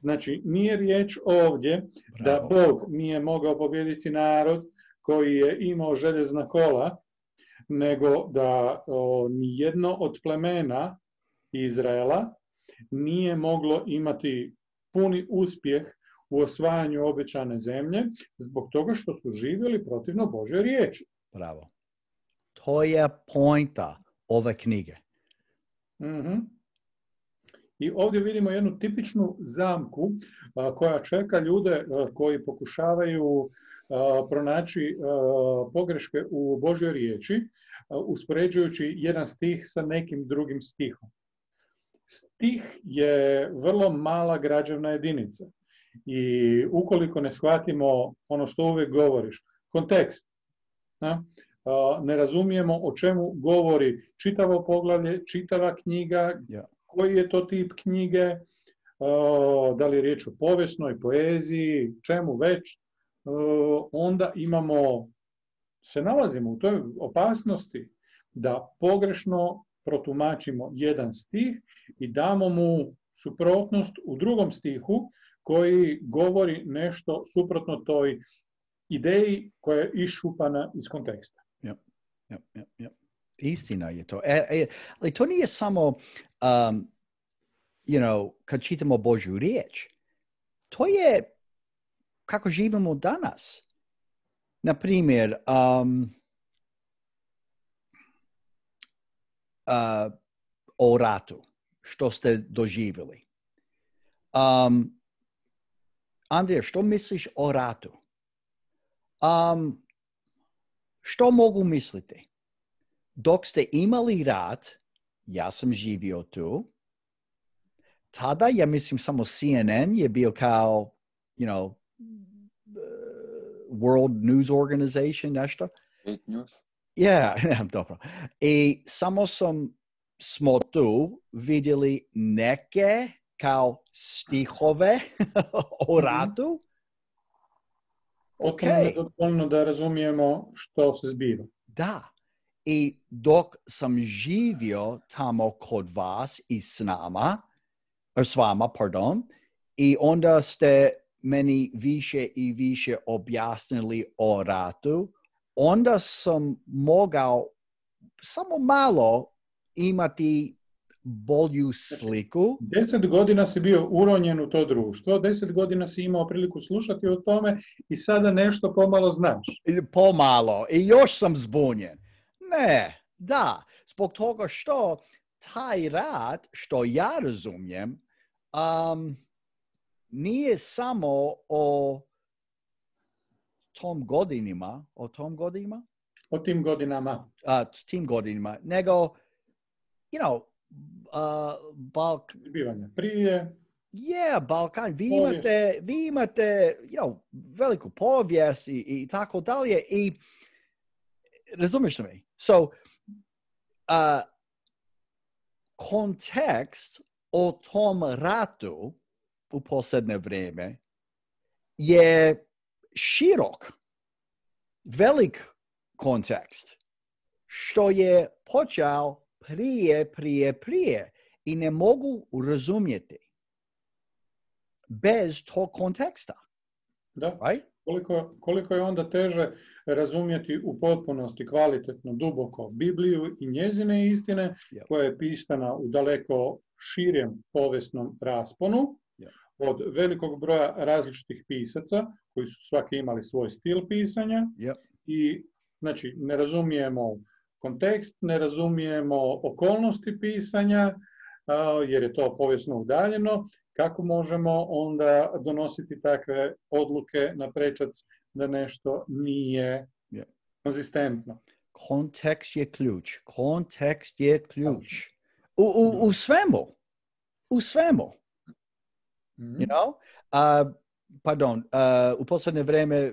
Znači, nije riječ ovdje Bravo. da Bog nije mogao pobijediti narod koji je imao željezna kola, nego da o, nijedno od plemena Izraela nije moglo imati puni uspjeh u osvajanju obećane zemlje zbog toga što su živjeli protivno Božoj riječi. Bravo. To je pointa ove knjige. Mm-hmm. I ovdje vidimo jednu tipičnu zamku a, koja čeka ljude a, koji pokušavaju a, pronaći a, pogreške u Božoj riječi, a, uspoređujući jedan stih sa nekim drugim stihom. Stih je vrlo mala građevna jedinica i ukoliko ne shvatimo ono što uvijek govoriš, kontekst, a, a, ne razumijemo o čemu govori čitavo poglavlje, čitava knjiga, Yeah. koji je to tip knjige, da li je riječ o povijesnoj, poeziji, čemu već, onda imamo, se nalazimo u toj opasnosti da pogrešno protumačimo jedan stih i damo mu suprotnost u drugom stihu koji govori nešto suprotno toj ideji koja je iščupana iz konteksta. Yep, yep, yep, yep. Istina je to. E, e, ali to nije samo, um, you know, kad čitamo Božju riječ. To je kako živimo danas. Na primjer, um, uh, o ratu, što ste doživjeli. Um, Andrija, što misliš o ratu? Um, što mogu misliti? Dok ste imali rat, ja sam živio tu, tada, ja mislim, samo C N N je bio kao, you know, World News Organization, nešto. Fake news. Yeah, dobro. I samo sam, smo tu vidjeli neke kao stihove o ratu. Potpuno je dovoljno da razumijemo što se zbiva. Da. I dok sam živio tamo kod vas i s nama, s vama, pardon, i onda ste meni više i više objasnili o ratu, onda sam mogao samo malo imati bolju sliku. Deset godina si bio uronjen u to društvo, deset godina si imao priliku slušati o tome i sada nešto pomalo znaš. Pomalo. I još sam zbunjen. Ne, da, zbog toga što taj rat, što ja razumijem, um, nije samo o tom godinima, o tom godinima? O tim godinama. Uh, tim godinima, nego, you know, uh, Balk... Zbivanja prije. Yeah, Balkan, vi imate, vi imate, you know, veliku povijest i, i tako dalje i razumiješ me? So, uh, kontekst o tom ratu u posljednje vrijeme je širok, velik kontekst, što je počeo prije, prije, prije i ne mogu razumjeti bez tog konteksta. Da. Right? Koliko, koliko je onda teže razumjeti u potpunosti, kvalitetno, duboko Bibliju i njezine istine, yep. koja je pisana u daleko širem povijesnom rasponu, yep. od velikog broja različitih pisaca, koji su svaki imali svoj stil pisanja, yep. i znači ne razumijemo kontekst, ne razumijemo okolnosti pisanja, jer je to povijesno udaljeno. Kako možemo onda donositi takve odluke na prečac da nešto nije yeah. konzistentno? Kontekst je ključ. Kontekst je ključ. U, u, u svemu. U svemu. Mm-hmm. You know? Uh, pardon, uh, u posljednje vrijeme,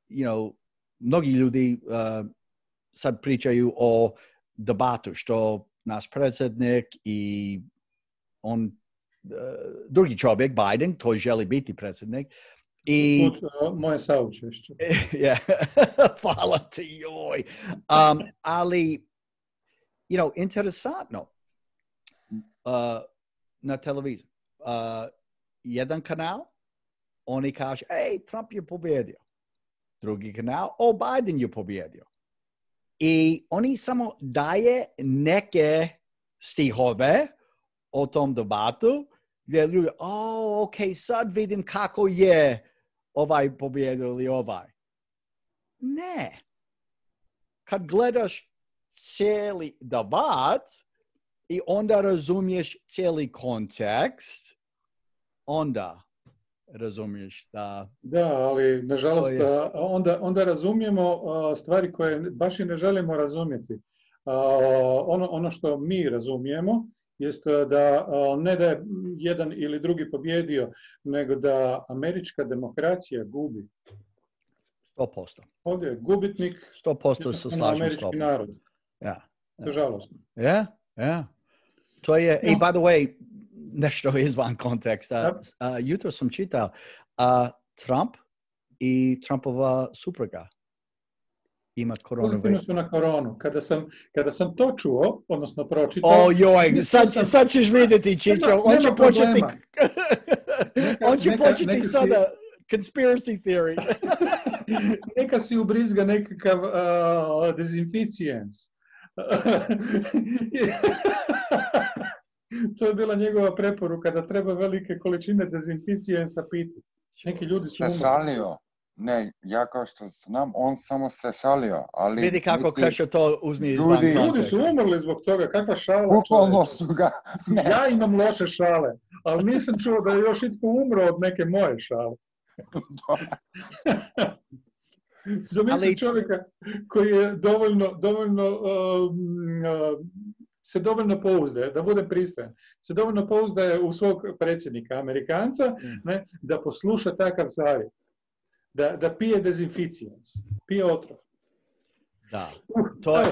you know, mnogi ljudi uh, sad pričaju o debatu, što naš predsjednik i on drugi čovjek, Biden, koji želi biti predsjednik. I, Put, uh, moje saučešće. yeah, hvala ti, joj. Um, ali, you know, interesantno, uh, na televiziji, uh, jedan kanal, oni kažu, ej, Trump je pobjedio. Drugi kanal, o, Biden je pobjedio. I oni samo daje neke stihove o tom debatu, gdje ljudi, o, ok, sad vidim kako je ovaj pobjedio ili ovaj. Ne. Kad gledaš cijeli debat i onda razumiješ cijeli kontekst, onda razumiješ da... Da, ali nažalost onda, onda razumijemo stvari koje baš i ne želimo razumjeti. Ono, ono što mi razumijemo jest da ne da je jedan ili drugi pobjedio, nego da američka demokracija gubi. sto posto. Ovdje je gubitnik, sto posto se slažem s američki tobom. narod. Ja. To je žalostno. Ja, ja. To je, i by the way, nešto izvan konteksta. Uh, jutro sam čitao uh, Trump i Trumpova supruga ima koronavirus. Pozitivno su na koronu. Kada sam, kada sam to čuo, odnosno pročitao... O joj, sad, sam, sad ćeš vidjeti, Čičo. On će početi... neka, on će neka, početi neka sada si, conspiracy theory. Neka si ubrizga nekakav uh, dezinficijens. To je bila njegova preporuka, da treba velike količine dezinficijensa piti. Neki ljudi su umrli. Šalio. Ne, ja kao što znam, on samo se šalio. Ali vidi kako neki... Krešo to uzmi iz ljudi, ljudi su umrli zbog toga, kakva šala. Bukvalno su ga. Ne. Ja imam loše šale, ali nisam čuo da je još itko umro od neke moje šale. Zamislite ali... čovjeka koji je dovoljno, dovoljno uh, uh, se dovoljno pouzdaje, da bude pristojan, se dovoljno pouzdaje u svog predsjednika, Amerikanca, mm. ne, da posluša takav savjet, da, da pije dezinficijens, pije otrov. Da, to je,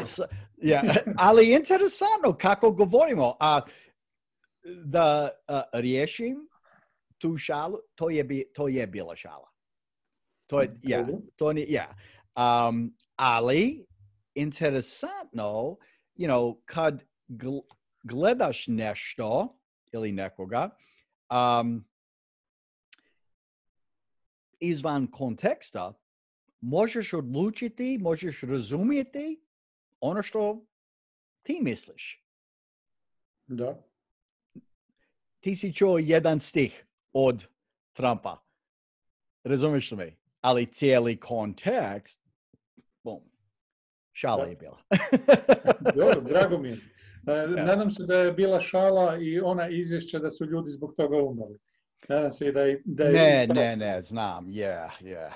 ja, ali interesantno kako govorimo, a da a, riješim tu šalu, to je, bi, to je bila šala. To je, ja, to ni, ja. Um, ali interesantno, you know, kad gl- gledaš nešto ili nekoga, um, izvan konteksta, možeš odlučiti, možeš razumjeti ono što ti misliš. Da. Ti si čuo jedan stih od Trumpa. Razumiješ li mi? Ali cijeli kontekst, bum, šala je bila. Dobro, drago mi je. Nadam se da je bila šala i ona izvješća da su ljudi zbog toga umrli. Nadam se da je... Da je ne, ne, ne, znam, yeah, yeah.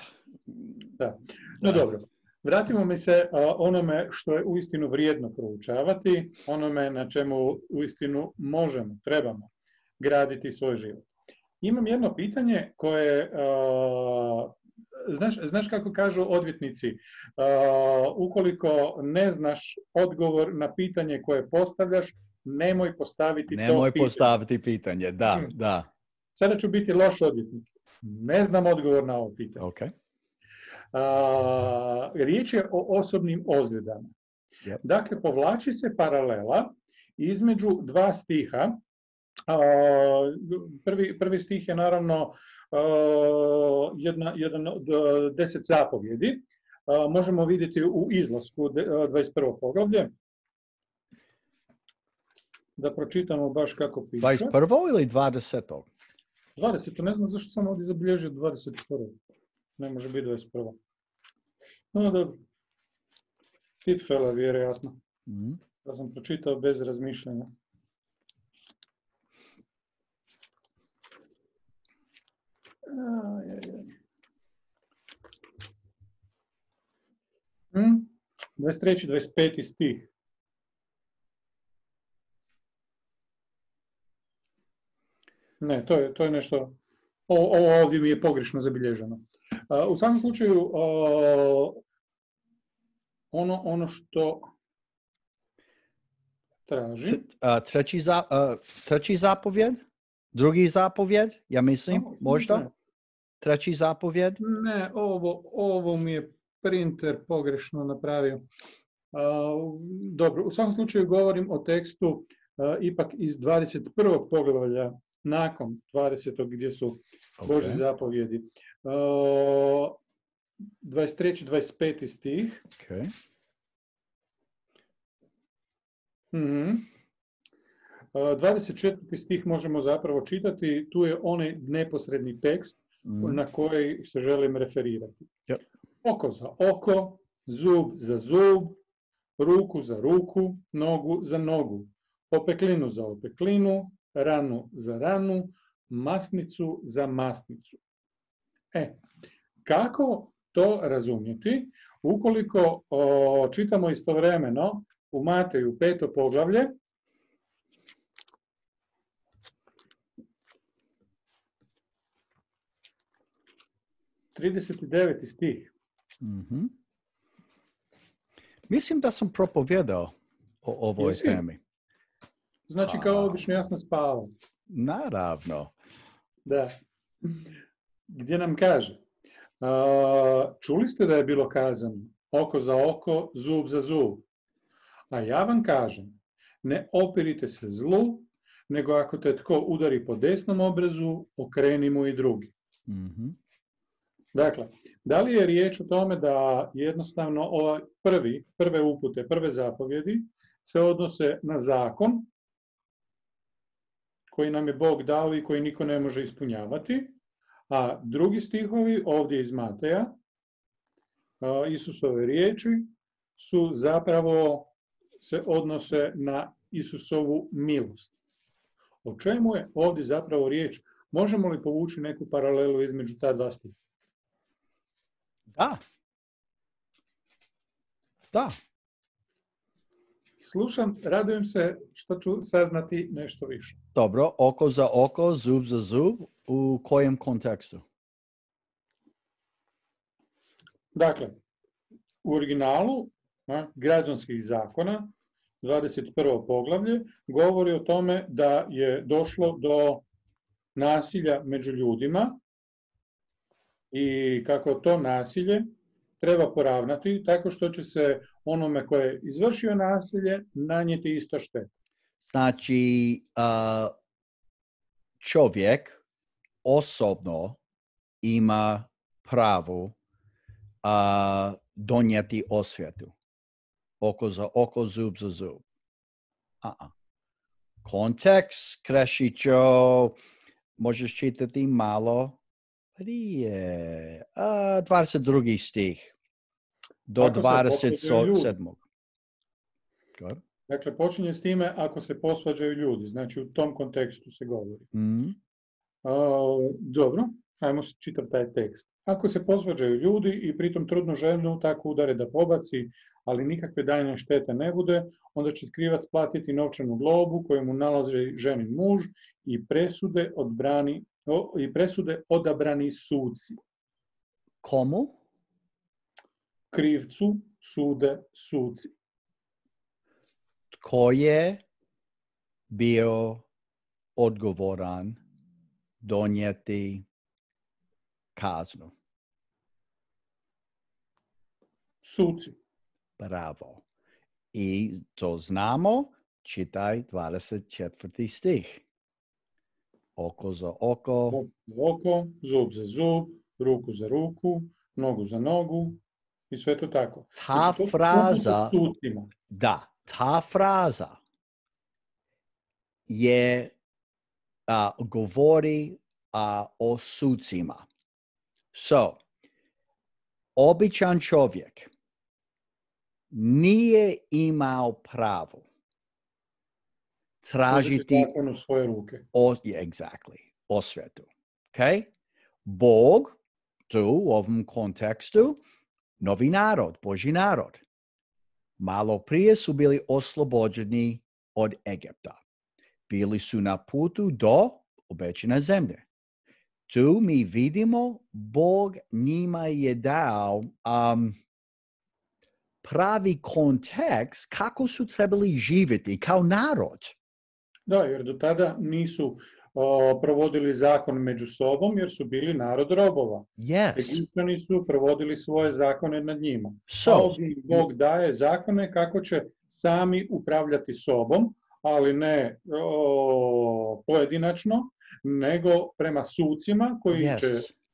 Da. No da. Dobro, vratimo mi se uh, onome što je uistinu vrijedno proučavati, onome na čemu uistinu možemo, trebamo graditi svoj život. Imam jedno pitanje koje, uh, znaš, znaš kako kažu odvjetnici, uh, ukoliko ne znaš odgovor na pitanje koje postavljaš, nemoj postaviti nemoj to pitanje. Nemoj postaviti pitanje, da, hmm. da. Sada ću biti loš odvjetnik. Ne znam odgovor na ovo pitanje. Okay. Uh, riječ je o osobnim ozljedama. Yep. Dakle, povlači se paralela između dva stiha. Uh, prvi, prvi stih je naravno uh, jedna, jedan od deset zapovjedi. Uh, možemo vidjeti u izlasku dvadeset prvo poglavlje. Da pročitamo baš kako piše. dvadeset prvo ili dvadeseto? dvadeseto, ne znam zašto sam ovdje zabilježio dvadeset prvo. Ne može biti dvadeset prvo. No dobro. Tipfela vjerojatno. Mm-hmm. Da sam pročitao bez razmišljanja. Hmm? dvadeset treći dvadeset peti stih. Ne, to je, to je nešto, ovo ovdje mi je pogrešno zabilježeno. Uh, u svakom slučaju, uh, ono, ono što traži... Treći, za, uh, treći zapovjed? Drugi zapovjed, ja mislim, O, možda? ne. Treći zapovjed? Ne, ovo, ovo mi je printer pogrešno napravio. Uh, dobro, u svakom slučaju govorim o tekstu uh, ipak iz dvadeset prvog poglavlja nakon dvadesetog gdje su Božje Okay. zapovjedi. Uh, dvadeset treći dvadeset peti stih. Okay. Mhm. Uh, dvadeset četvrti stih možemo zapravo čitati, tu je onaj neposredni tekst Mm. na koji se želim referirati. Yep. Oko za oko, zub za zub, ruku za ruku, nogu za nogu, opeklinu za opeklinu, ranu za ranu, masnicu za masnicu. E, kako to razumjeti? Ukoliko o, čitamo istovremeno u Mateju peto poglavlje, trideset deveti stih. Mhm. Mislim da sam propovijedao o ovoj Jesi? temi. Znači kao obično ja sam spavao. Naravno. Da. Gdje nam kaže, a, čuli ste da je bilo kazano oko za oko, zub za zub. A ja vam kažem, ne opirite se zlu, nego ako te tko udari po desnom obrazu, okreni mu i drugi. Mhm. Dakle, da li je riječ o tome da jednostavno ovaj prvi, prve upute, prve zapovjedi se odnose na zakon koji nam je Bog dao i koji niko ne može ispunjavati, a drugi stihovi ovdje iz Mateja, Isusove riječi, su zapravo se odnose na Isusovu milost. O čemu je ovdje zapravo riječ? Možemo li povući neku paralelu između ta dva stiha? Da. Da. Slušam, radujem se što ću saznati nešto više. Dobro, oko za oko, zub za zub, u kojem kontekstu? Dakle, u originalu a, građanskih zakona, dvadeset prvo poglavlje, govori o tome da je došlo do nasilja među ljudima i kako to nasilje treba poravnati tako što će se onome koje je izvršio nasilje nanijeti ista šteta. Znači, uh, čovjek osobno ima pravo uh, donijeti osvetu. Oko za oko, zub za zub. Uh-uh. Kontekst, Krešićo, možeš čitati malo prije. Uh, dvadeset drugi stih. Do Ako se dvadeset posvađaju sedmog. Good. Dakle, počinje s time ako se posvađaju ljudi, znači u tom kontekstu se govori. Mm. A, dobro, ajmo čitati taj tekst. Ako se posvađaju ljudi i pritom trudnu ženu tako udare da pobaci, ali nikakve daljnje štete ne bude, onda će krivac platiti novčanu globu koju mu nalazi ženin muž i presude, odbrani, o, i presude odabrani suci. Komu? Krivcu sude suci. Tko je bio odgovoran donijeti kaznu? Suci. Bravo. I to znamo, čitaj dvadeset četvrti stih. Oko za oko. Oko za oko, zub za zub, ruku za ruku, nogu za nogu i sve to tako. Ta Znači, to su fraza, upute sucima. da, ta fraza je a, govori a, o sucima. So, običan čovjek nije imao pravo tražiti zakon u svoje ruke. o, yeah, exactly, osvetu. Okay? Bog tu u ovom kontekstu novi narod, Božji narod. Malo prije su bili oslobođeni od Egipta. Bili su na putu do obećane zemlje. Tu mi vidimo Bog njima je dao um, pravi kontekst kako su trebali živjeti kao narod. Da, jer do tada nisu o, provodili zakon među sobom jer su bili narod robova. Yes. Egipćani su provodili svoje zakone nad njima. So, A ovdje im Bog daje zakone kako će sami upravljati sobom, ali ne o, pojedinačno, nego prema sucima koji yes. će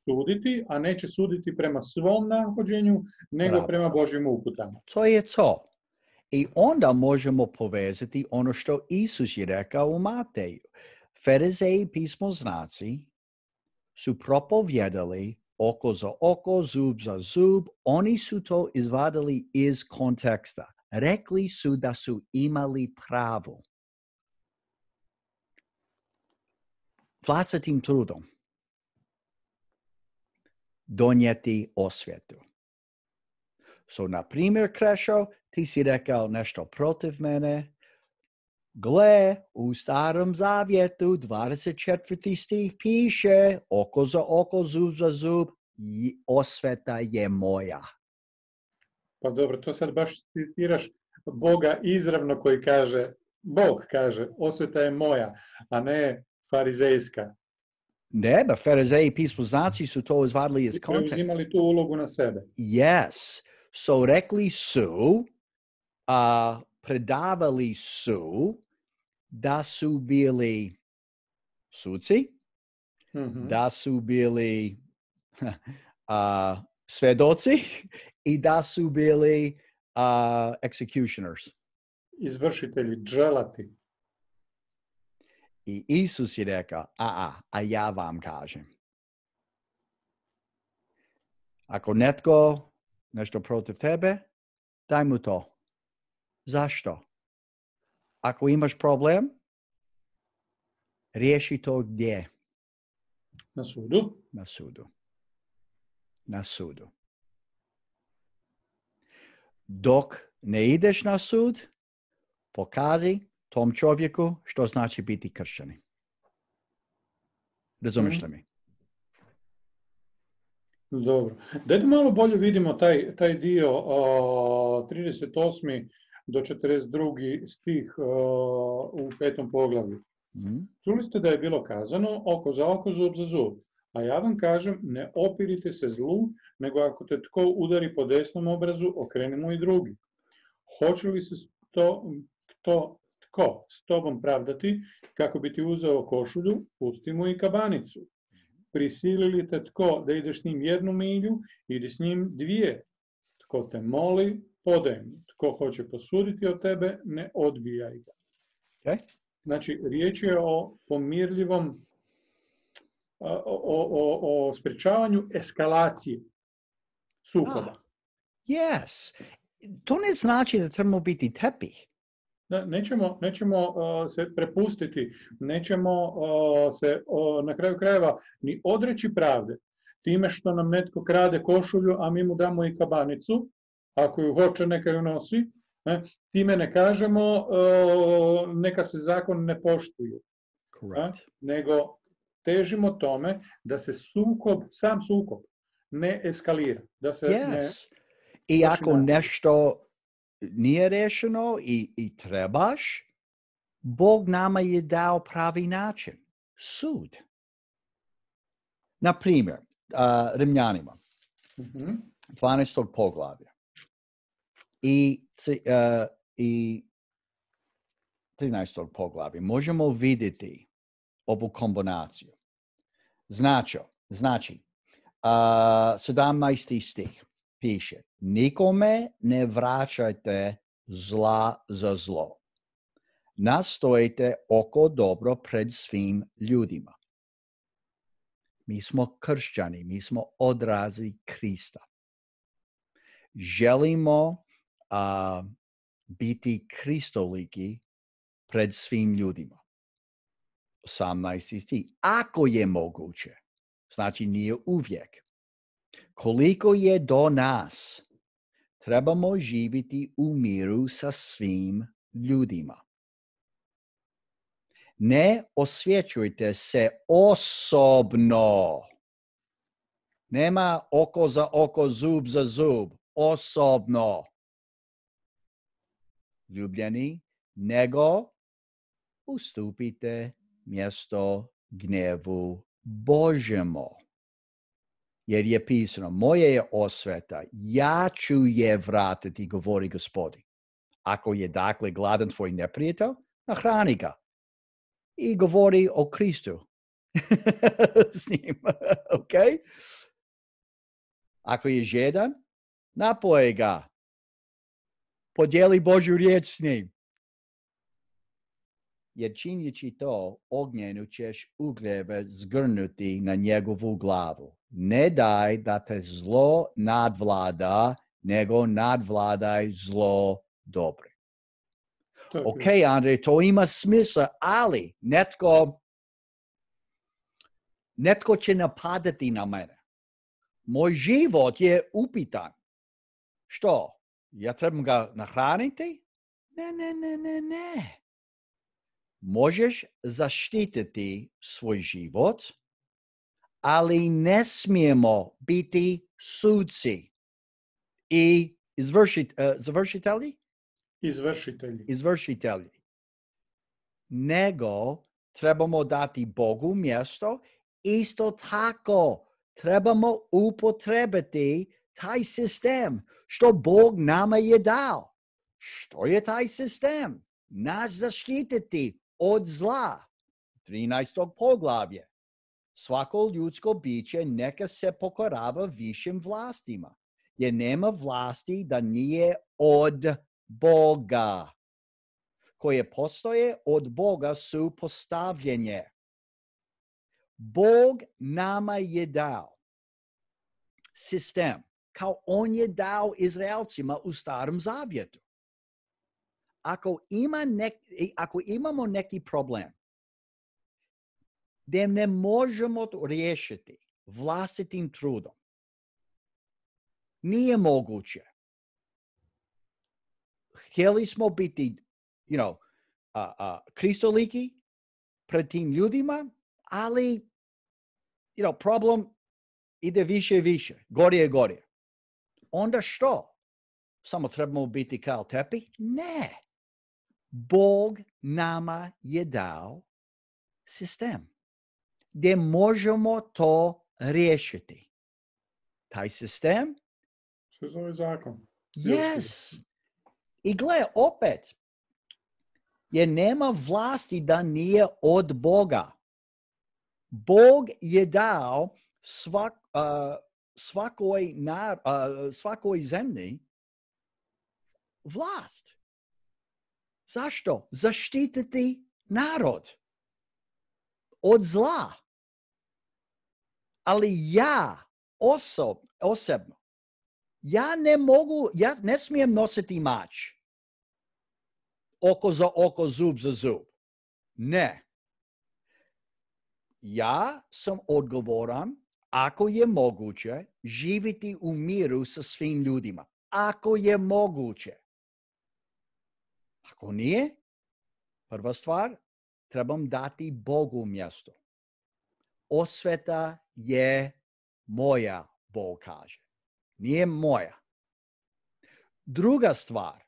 suditi, a neće suditi prema svom nahođenju, nego Bravo. prema Božjim uputama. To je to. I onda možemo povezati ono što Isus je rekao u Mateju. Farizeji i pismoznaci su propovjedali oko za oko, zub za zub. Oni su to izvadili iz konteksta. Rekli su da su imali pravo. Vlastitim trudom donijeti osvjetu. So, na primjer, Krešo, ti si rekao nešto protiv mene. Gle, u Starom Zavjetu, dvadeset četvrti stih piše, oko za oko, zub za zub, i osveta je moja. Pa dobro, to sad baš citiraš Boga izravno koji kaže, Bog kaže, osveta je moja, a ne farizejska. Ne, ba farizeji i pismoznaci su to izvadili iz konteksta. Preuzimali tu ulogu na sebe. Yes. So, rekli su, a predavali su da su bili suci, Mhm. da su bili uh, svedoci i da su bili uh, executioners. Izvršitelji, dželati. I Isus je rekao, a, a, a ja vam kažem. Ako netko nešto protiv tebe, daj mu to. Zašto? Ako imaš problem, riješi to gdje? Na sudu. Na sudu. Na sudu. Dok ne ideš na sud, pokazi tom čovjeku što znači biti kršćani. Razumiješ li mi? Dobro. Dajte malo bolje vidimo taj, taj dio o, trideset osmi do četrdeset drugi stih o, u petom poglavlju. Mm. Čuli ste da je bilo kazano oko za oko, zub za zub. A ja vam kažem, ne opirite se zlu, nego ako te tko udari po desnom obrazu, okreni mu i drugi. Hoće li se to, to, tko s tobom pravdati, kako bi ti uzeo košulju, pusti mu i kabanicu. Prisilili te tko da ideš s njim jednu milju, idi s njim dvije. Tko te moli, podaj mu. Tko hoće posuditi od tebe, ne odbijaj ga. Okay. Znači, riječ je o pomirljivom, o, o, o, o sprečavanju eskalacije sukoba. Ah, yes. To ne znači da trebamo biti tepih. Nećemo, nećemo uh, se prepustiti, nećemo uh, se uh, na kraju krajeva ni odreći pravde. Time što nam netko krade košulju, a mi mu damo i kabanicu, ako ju hoće neka ju nosi, ne? Time ne kažemo uh, neka se zakon ne poštuje. Correct. Nego težimo tome da se sukob, sam sukob ne eskalira. Da se Yes. ne... I ako nešto nije rešeno i, i trebaš, Bog nama je dao pravi način. Sud. Na primjer, uh, Rimljanima, Uh-huh. dvanaestog poglavlja i, uh, i trinaestog poglavlja možemo vidjeti ovu kombinaciju. Znači, znači uh, sedamnaesti stih piše, nikome ne vraćajte zla za zlo. Nastojite oko dobro pred svim ljudima. Mi smo kršćani, mi smo odrazi Krista. Želimo uh, biti kristoliki pred svim ljudima. osamnaesti stih. Ako je moguće, znači nije uvijek. Koliko je do nas, trebamo živjeti u miru sa svim ljudima. Ne osvjećujte se osobno. Nema oko za oko, zub za zub. Osobno. Ljubljeni, nego ustupite mjesto gnevu Božjemu. Jer je pisano, moja je osveta, ja ću je vratiti, govori Gospodin. Ako je dakle gladan tvoj neprijatelj, nahrani ga. I govori o Kristu s njim, ok? Ako je žedan, napoje ga. Podijeli Božju riječ s njim. Jer činjeći to, ognjenu ćeš ugljeve zgrnuti na njegovu glavu. Ne daj da te zlo nadvlada, nego nadvladaj zlo dobro. Ok, Andrej, to ima smisla, ali netko, netko će napadati na mene. Moj život je upitan. Što? Ja trebam ga nahraniti? Ne, ne, ne, ne, ne. Možeš zaštititi svoj život, ali ne smijemo biti suci i izvršit, uh, završitelji? Izvršitelji. Izvršitelji. Nego trebamo dati Bogu mjesto, isto tako trebamo upotrebiti taj sistem što Bog nama je dao. Što je taj sistem? Nas zaštititi od zla. trinaesto poglavlje. Svako ljudsko biće neka se pokorava višim vlastima, jer nema vlasti da nije od Boga. Koje postoje od Boga su postavljenje. Bog nama je dao sistem, kao on je dao Izraelcima u Starom Zavjetu. Ako, ima nek, ako imamo neki problem, da ne možemo to riješiti vlastitim trudom, nije moguće. Htjeli smo biti, you know, uh, uh, kristoliki pred tim ljudima, ali, you know, problem ide više i više, gorije i gorije. Onda što? Samo trebamo biti kao tepih? Ne. Bog nama je dao sistem gdje možemo to riješiti. Taj sistem? Se zove zakon. Yes. I gle, opet, jer nema vlasti da nije od Boga. Bog je dao svak, uh, svakoj, nar, uh, svakoj zemlji vlast. Zašto? Zaštititi narod od zla. Ali ja osob, osobno, ja ne mogu, ja ne smijem nositi mač. Oko za oko, zub za zub. Ne. Ja sam odgovoran, ako je moguće, živjeti u miru sa svim ljudima. Ako je moguće. Ako nije, prva stvar, trebam dati Bogu mjesto. Osveta je moja, Bog kaže. Nije moja. Druga stvar,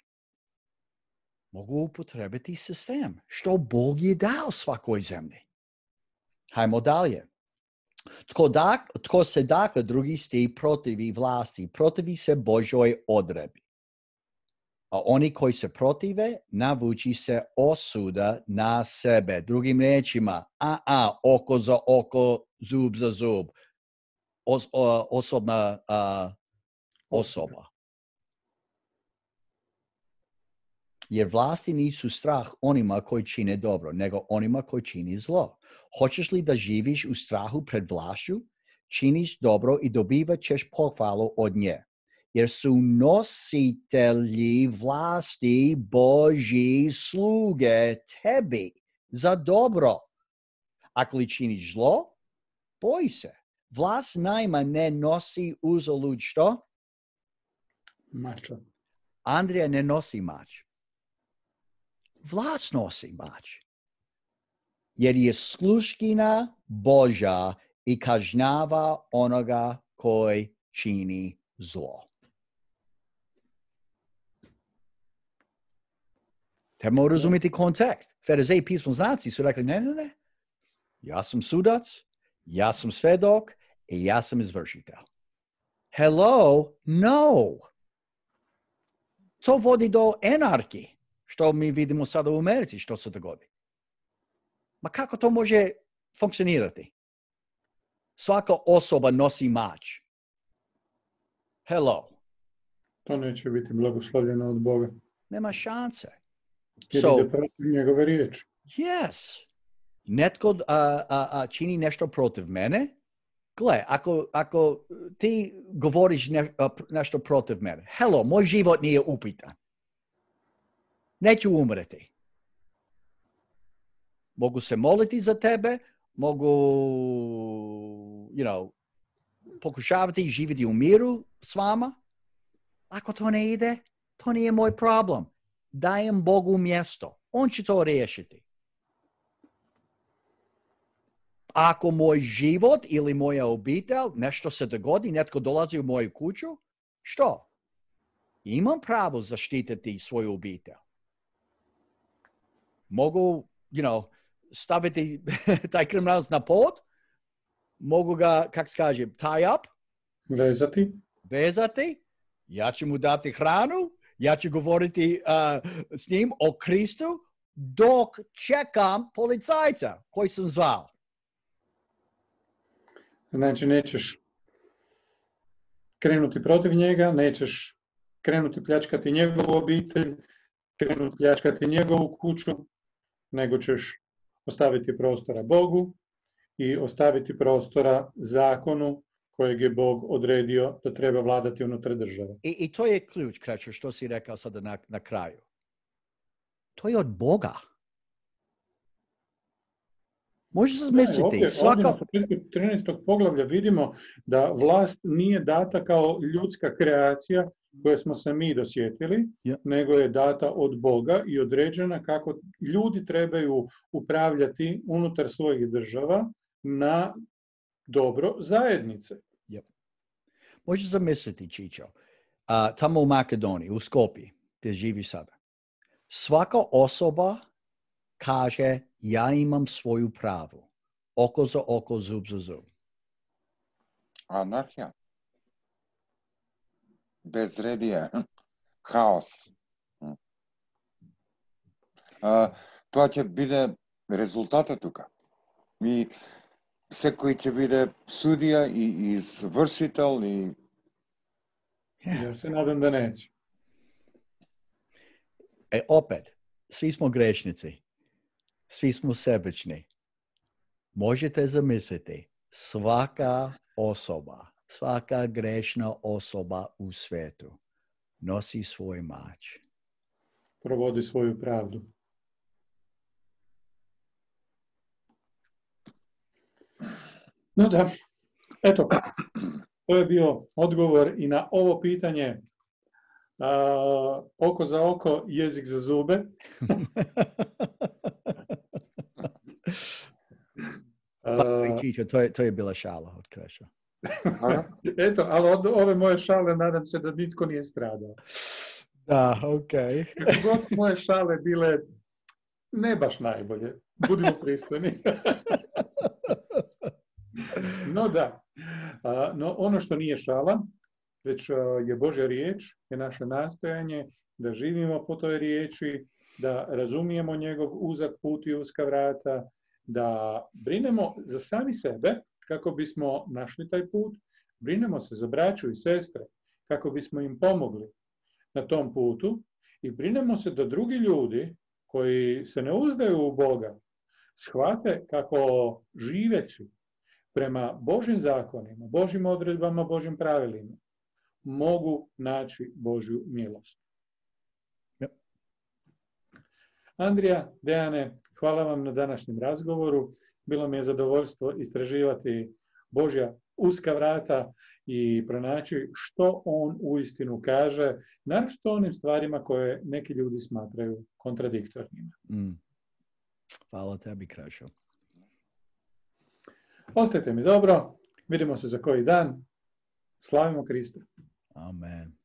mogu upotrebiti sistem, što Bog je dao svakoj zemlji. Hajmo dalje. Tko, dak, tko se dakle drugi sti protivi vlasti, protivi se Božoj odredbi. A oni koji se protive, navuči se osuda na sebe. Drugim riječima, a, a, oko za oko, zub za zub. Os, o, osobna a, osoba. Jer vlasti nisu strah onima koji čine dobro, nego onima koji čini zlo. Hoćeš li da živiš u strahu pred vlašću? Činiš dobro i dobivat ćeš pohvalu od nje. Jer su nositelji vlasti Božji sluge tebi za dobro. Ako li činiš zlo, boj se. Vlast najma ne nosi uzalud što? Mača. Andrija ne nosi mač. Vlast nosi mač. Jer je sluškina Božja i kažnjava onoga koji čini zlo. Trebamo razumjeti kontekst. Farizeji pismoznanci su rekli, ne, ne, ne. Ja sam sudac, ja sam svedok i ja sam izvršitelj. Hello? No. To vodi do anarhije, što mi vidimo sada u Americi, što se dogodi. Ma kako to može funkcionirati? Svaka osoba nosi mač. Hello. To neće biti blagoslovljeno od Boga. Nema šanse. Jer So, ide protiv njegove riječi. yes. Netko uh, uh, uh, čini nešto protiv mene. Gle, ako, ako ti govoriš ne, uh, nešto protiv mene, hello, moj život nije upitan. Neću umreti. Mogu se moliti za tebe, mogu, you know, pokušavati živjeti u miru s vama. Ako to ne ide, to nije moj problem. Dajem Bogu mjesto. On će to riješiti. Ako moj život ili moja obitelj, nešto se dogodi, netko dolazi u moju kuću, što? Imam pravo zaštititi svoju obitelj. Mogu, you know, staviti taj kriminalac na pod, mogu ga, kak se kaže, tie up, Vezati. vezati, ja ću mu dati hranu, ja ću govoriti uh, s njim o Kristu dok čekam policajca koji sam zvao. Znači, nećeš krenuti protiv njega, nećeš krenuti pljačkati njegovu obitelj, krenuti pljačkati njegovu kuću, nego ćeš ostaviti prostora Bogu i ostaviti prostora zakonu kojeg je Bog odredio da treba vladati unutar države. I, i to je ključ, Krećo, što si rekao sada na, na kraju. To je od Boga. Možeš zamisliti, ovdje, svaka... ovdje na početku trinaestog poglavlja vidimo da vlast nije data kao ljudska kreacija koje smo se mi dosjetili, Yeah. nego je data od Boga i određena kako ljudi trebaju upravljati unutar svojih država na dobro zajednice. Yep. Možeš zamisliti, Čičo, uh, tamo u Makedoniji, u Skopji, gdje živi sada. Svaka osoba kaže, ja imam svoju pravu. Oko za oko, zub za zub. Anarhija. Безредие. Хаос. А, тоа ќе биде резултатот тука. И секој ќе биде судија и извршител и Ja se nadam da neće. E, opet, svi smo grešnici. Svi smo sebični. Možete zamisliti, svaka osoba, svaka grešna osoba u svijetu nosi svoj mač. Provodi svoju pravdu. No da, eto, to je bio odgovor i na ovo pitanje a, oko za oko, jezik za zube. Pa, Čičo, to je, to je bila šala od Kreša. Eto, ali od ove moje šale nadam se da nitko nije stradao. Da, okej. Kako god moje šale bile ne baš najbolje. Budimo pristojni. No da, a, no ono što nije šala, već a, je Božja riječ, je naše nastojanje da živimo po toj riječi, da razumijemo njegov uzak put i uska vrata, da brinemo za sami sebe kako bismo našli taj put, brinemo se za braću i sestre kako bismo im pomogli na tom putu i brinemo se da drugi ljudi koji se ne uzdaju u Boga shvate kako živeći prema Božjim zakonima, Božjim odredbama, Božjim pravilima mogu naći Božju milost. Yep. Andrija, Dejane, hvala vam na današnjem razgovoru. Bilo mi je zadovoljstvo istraživati Božja uska vrata i pronaći što on uistinu kaže, naročito onim stvarima koje neki ljudi smatraju kontradiktornima. Mm. Hvala tebi, Krešo. Ostajte mi dobro, vidimo se za koji dan. Slavimo Krista. Amen.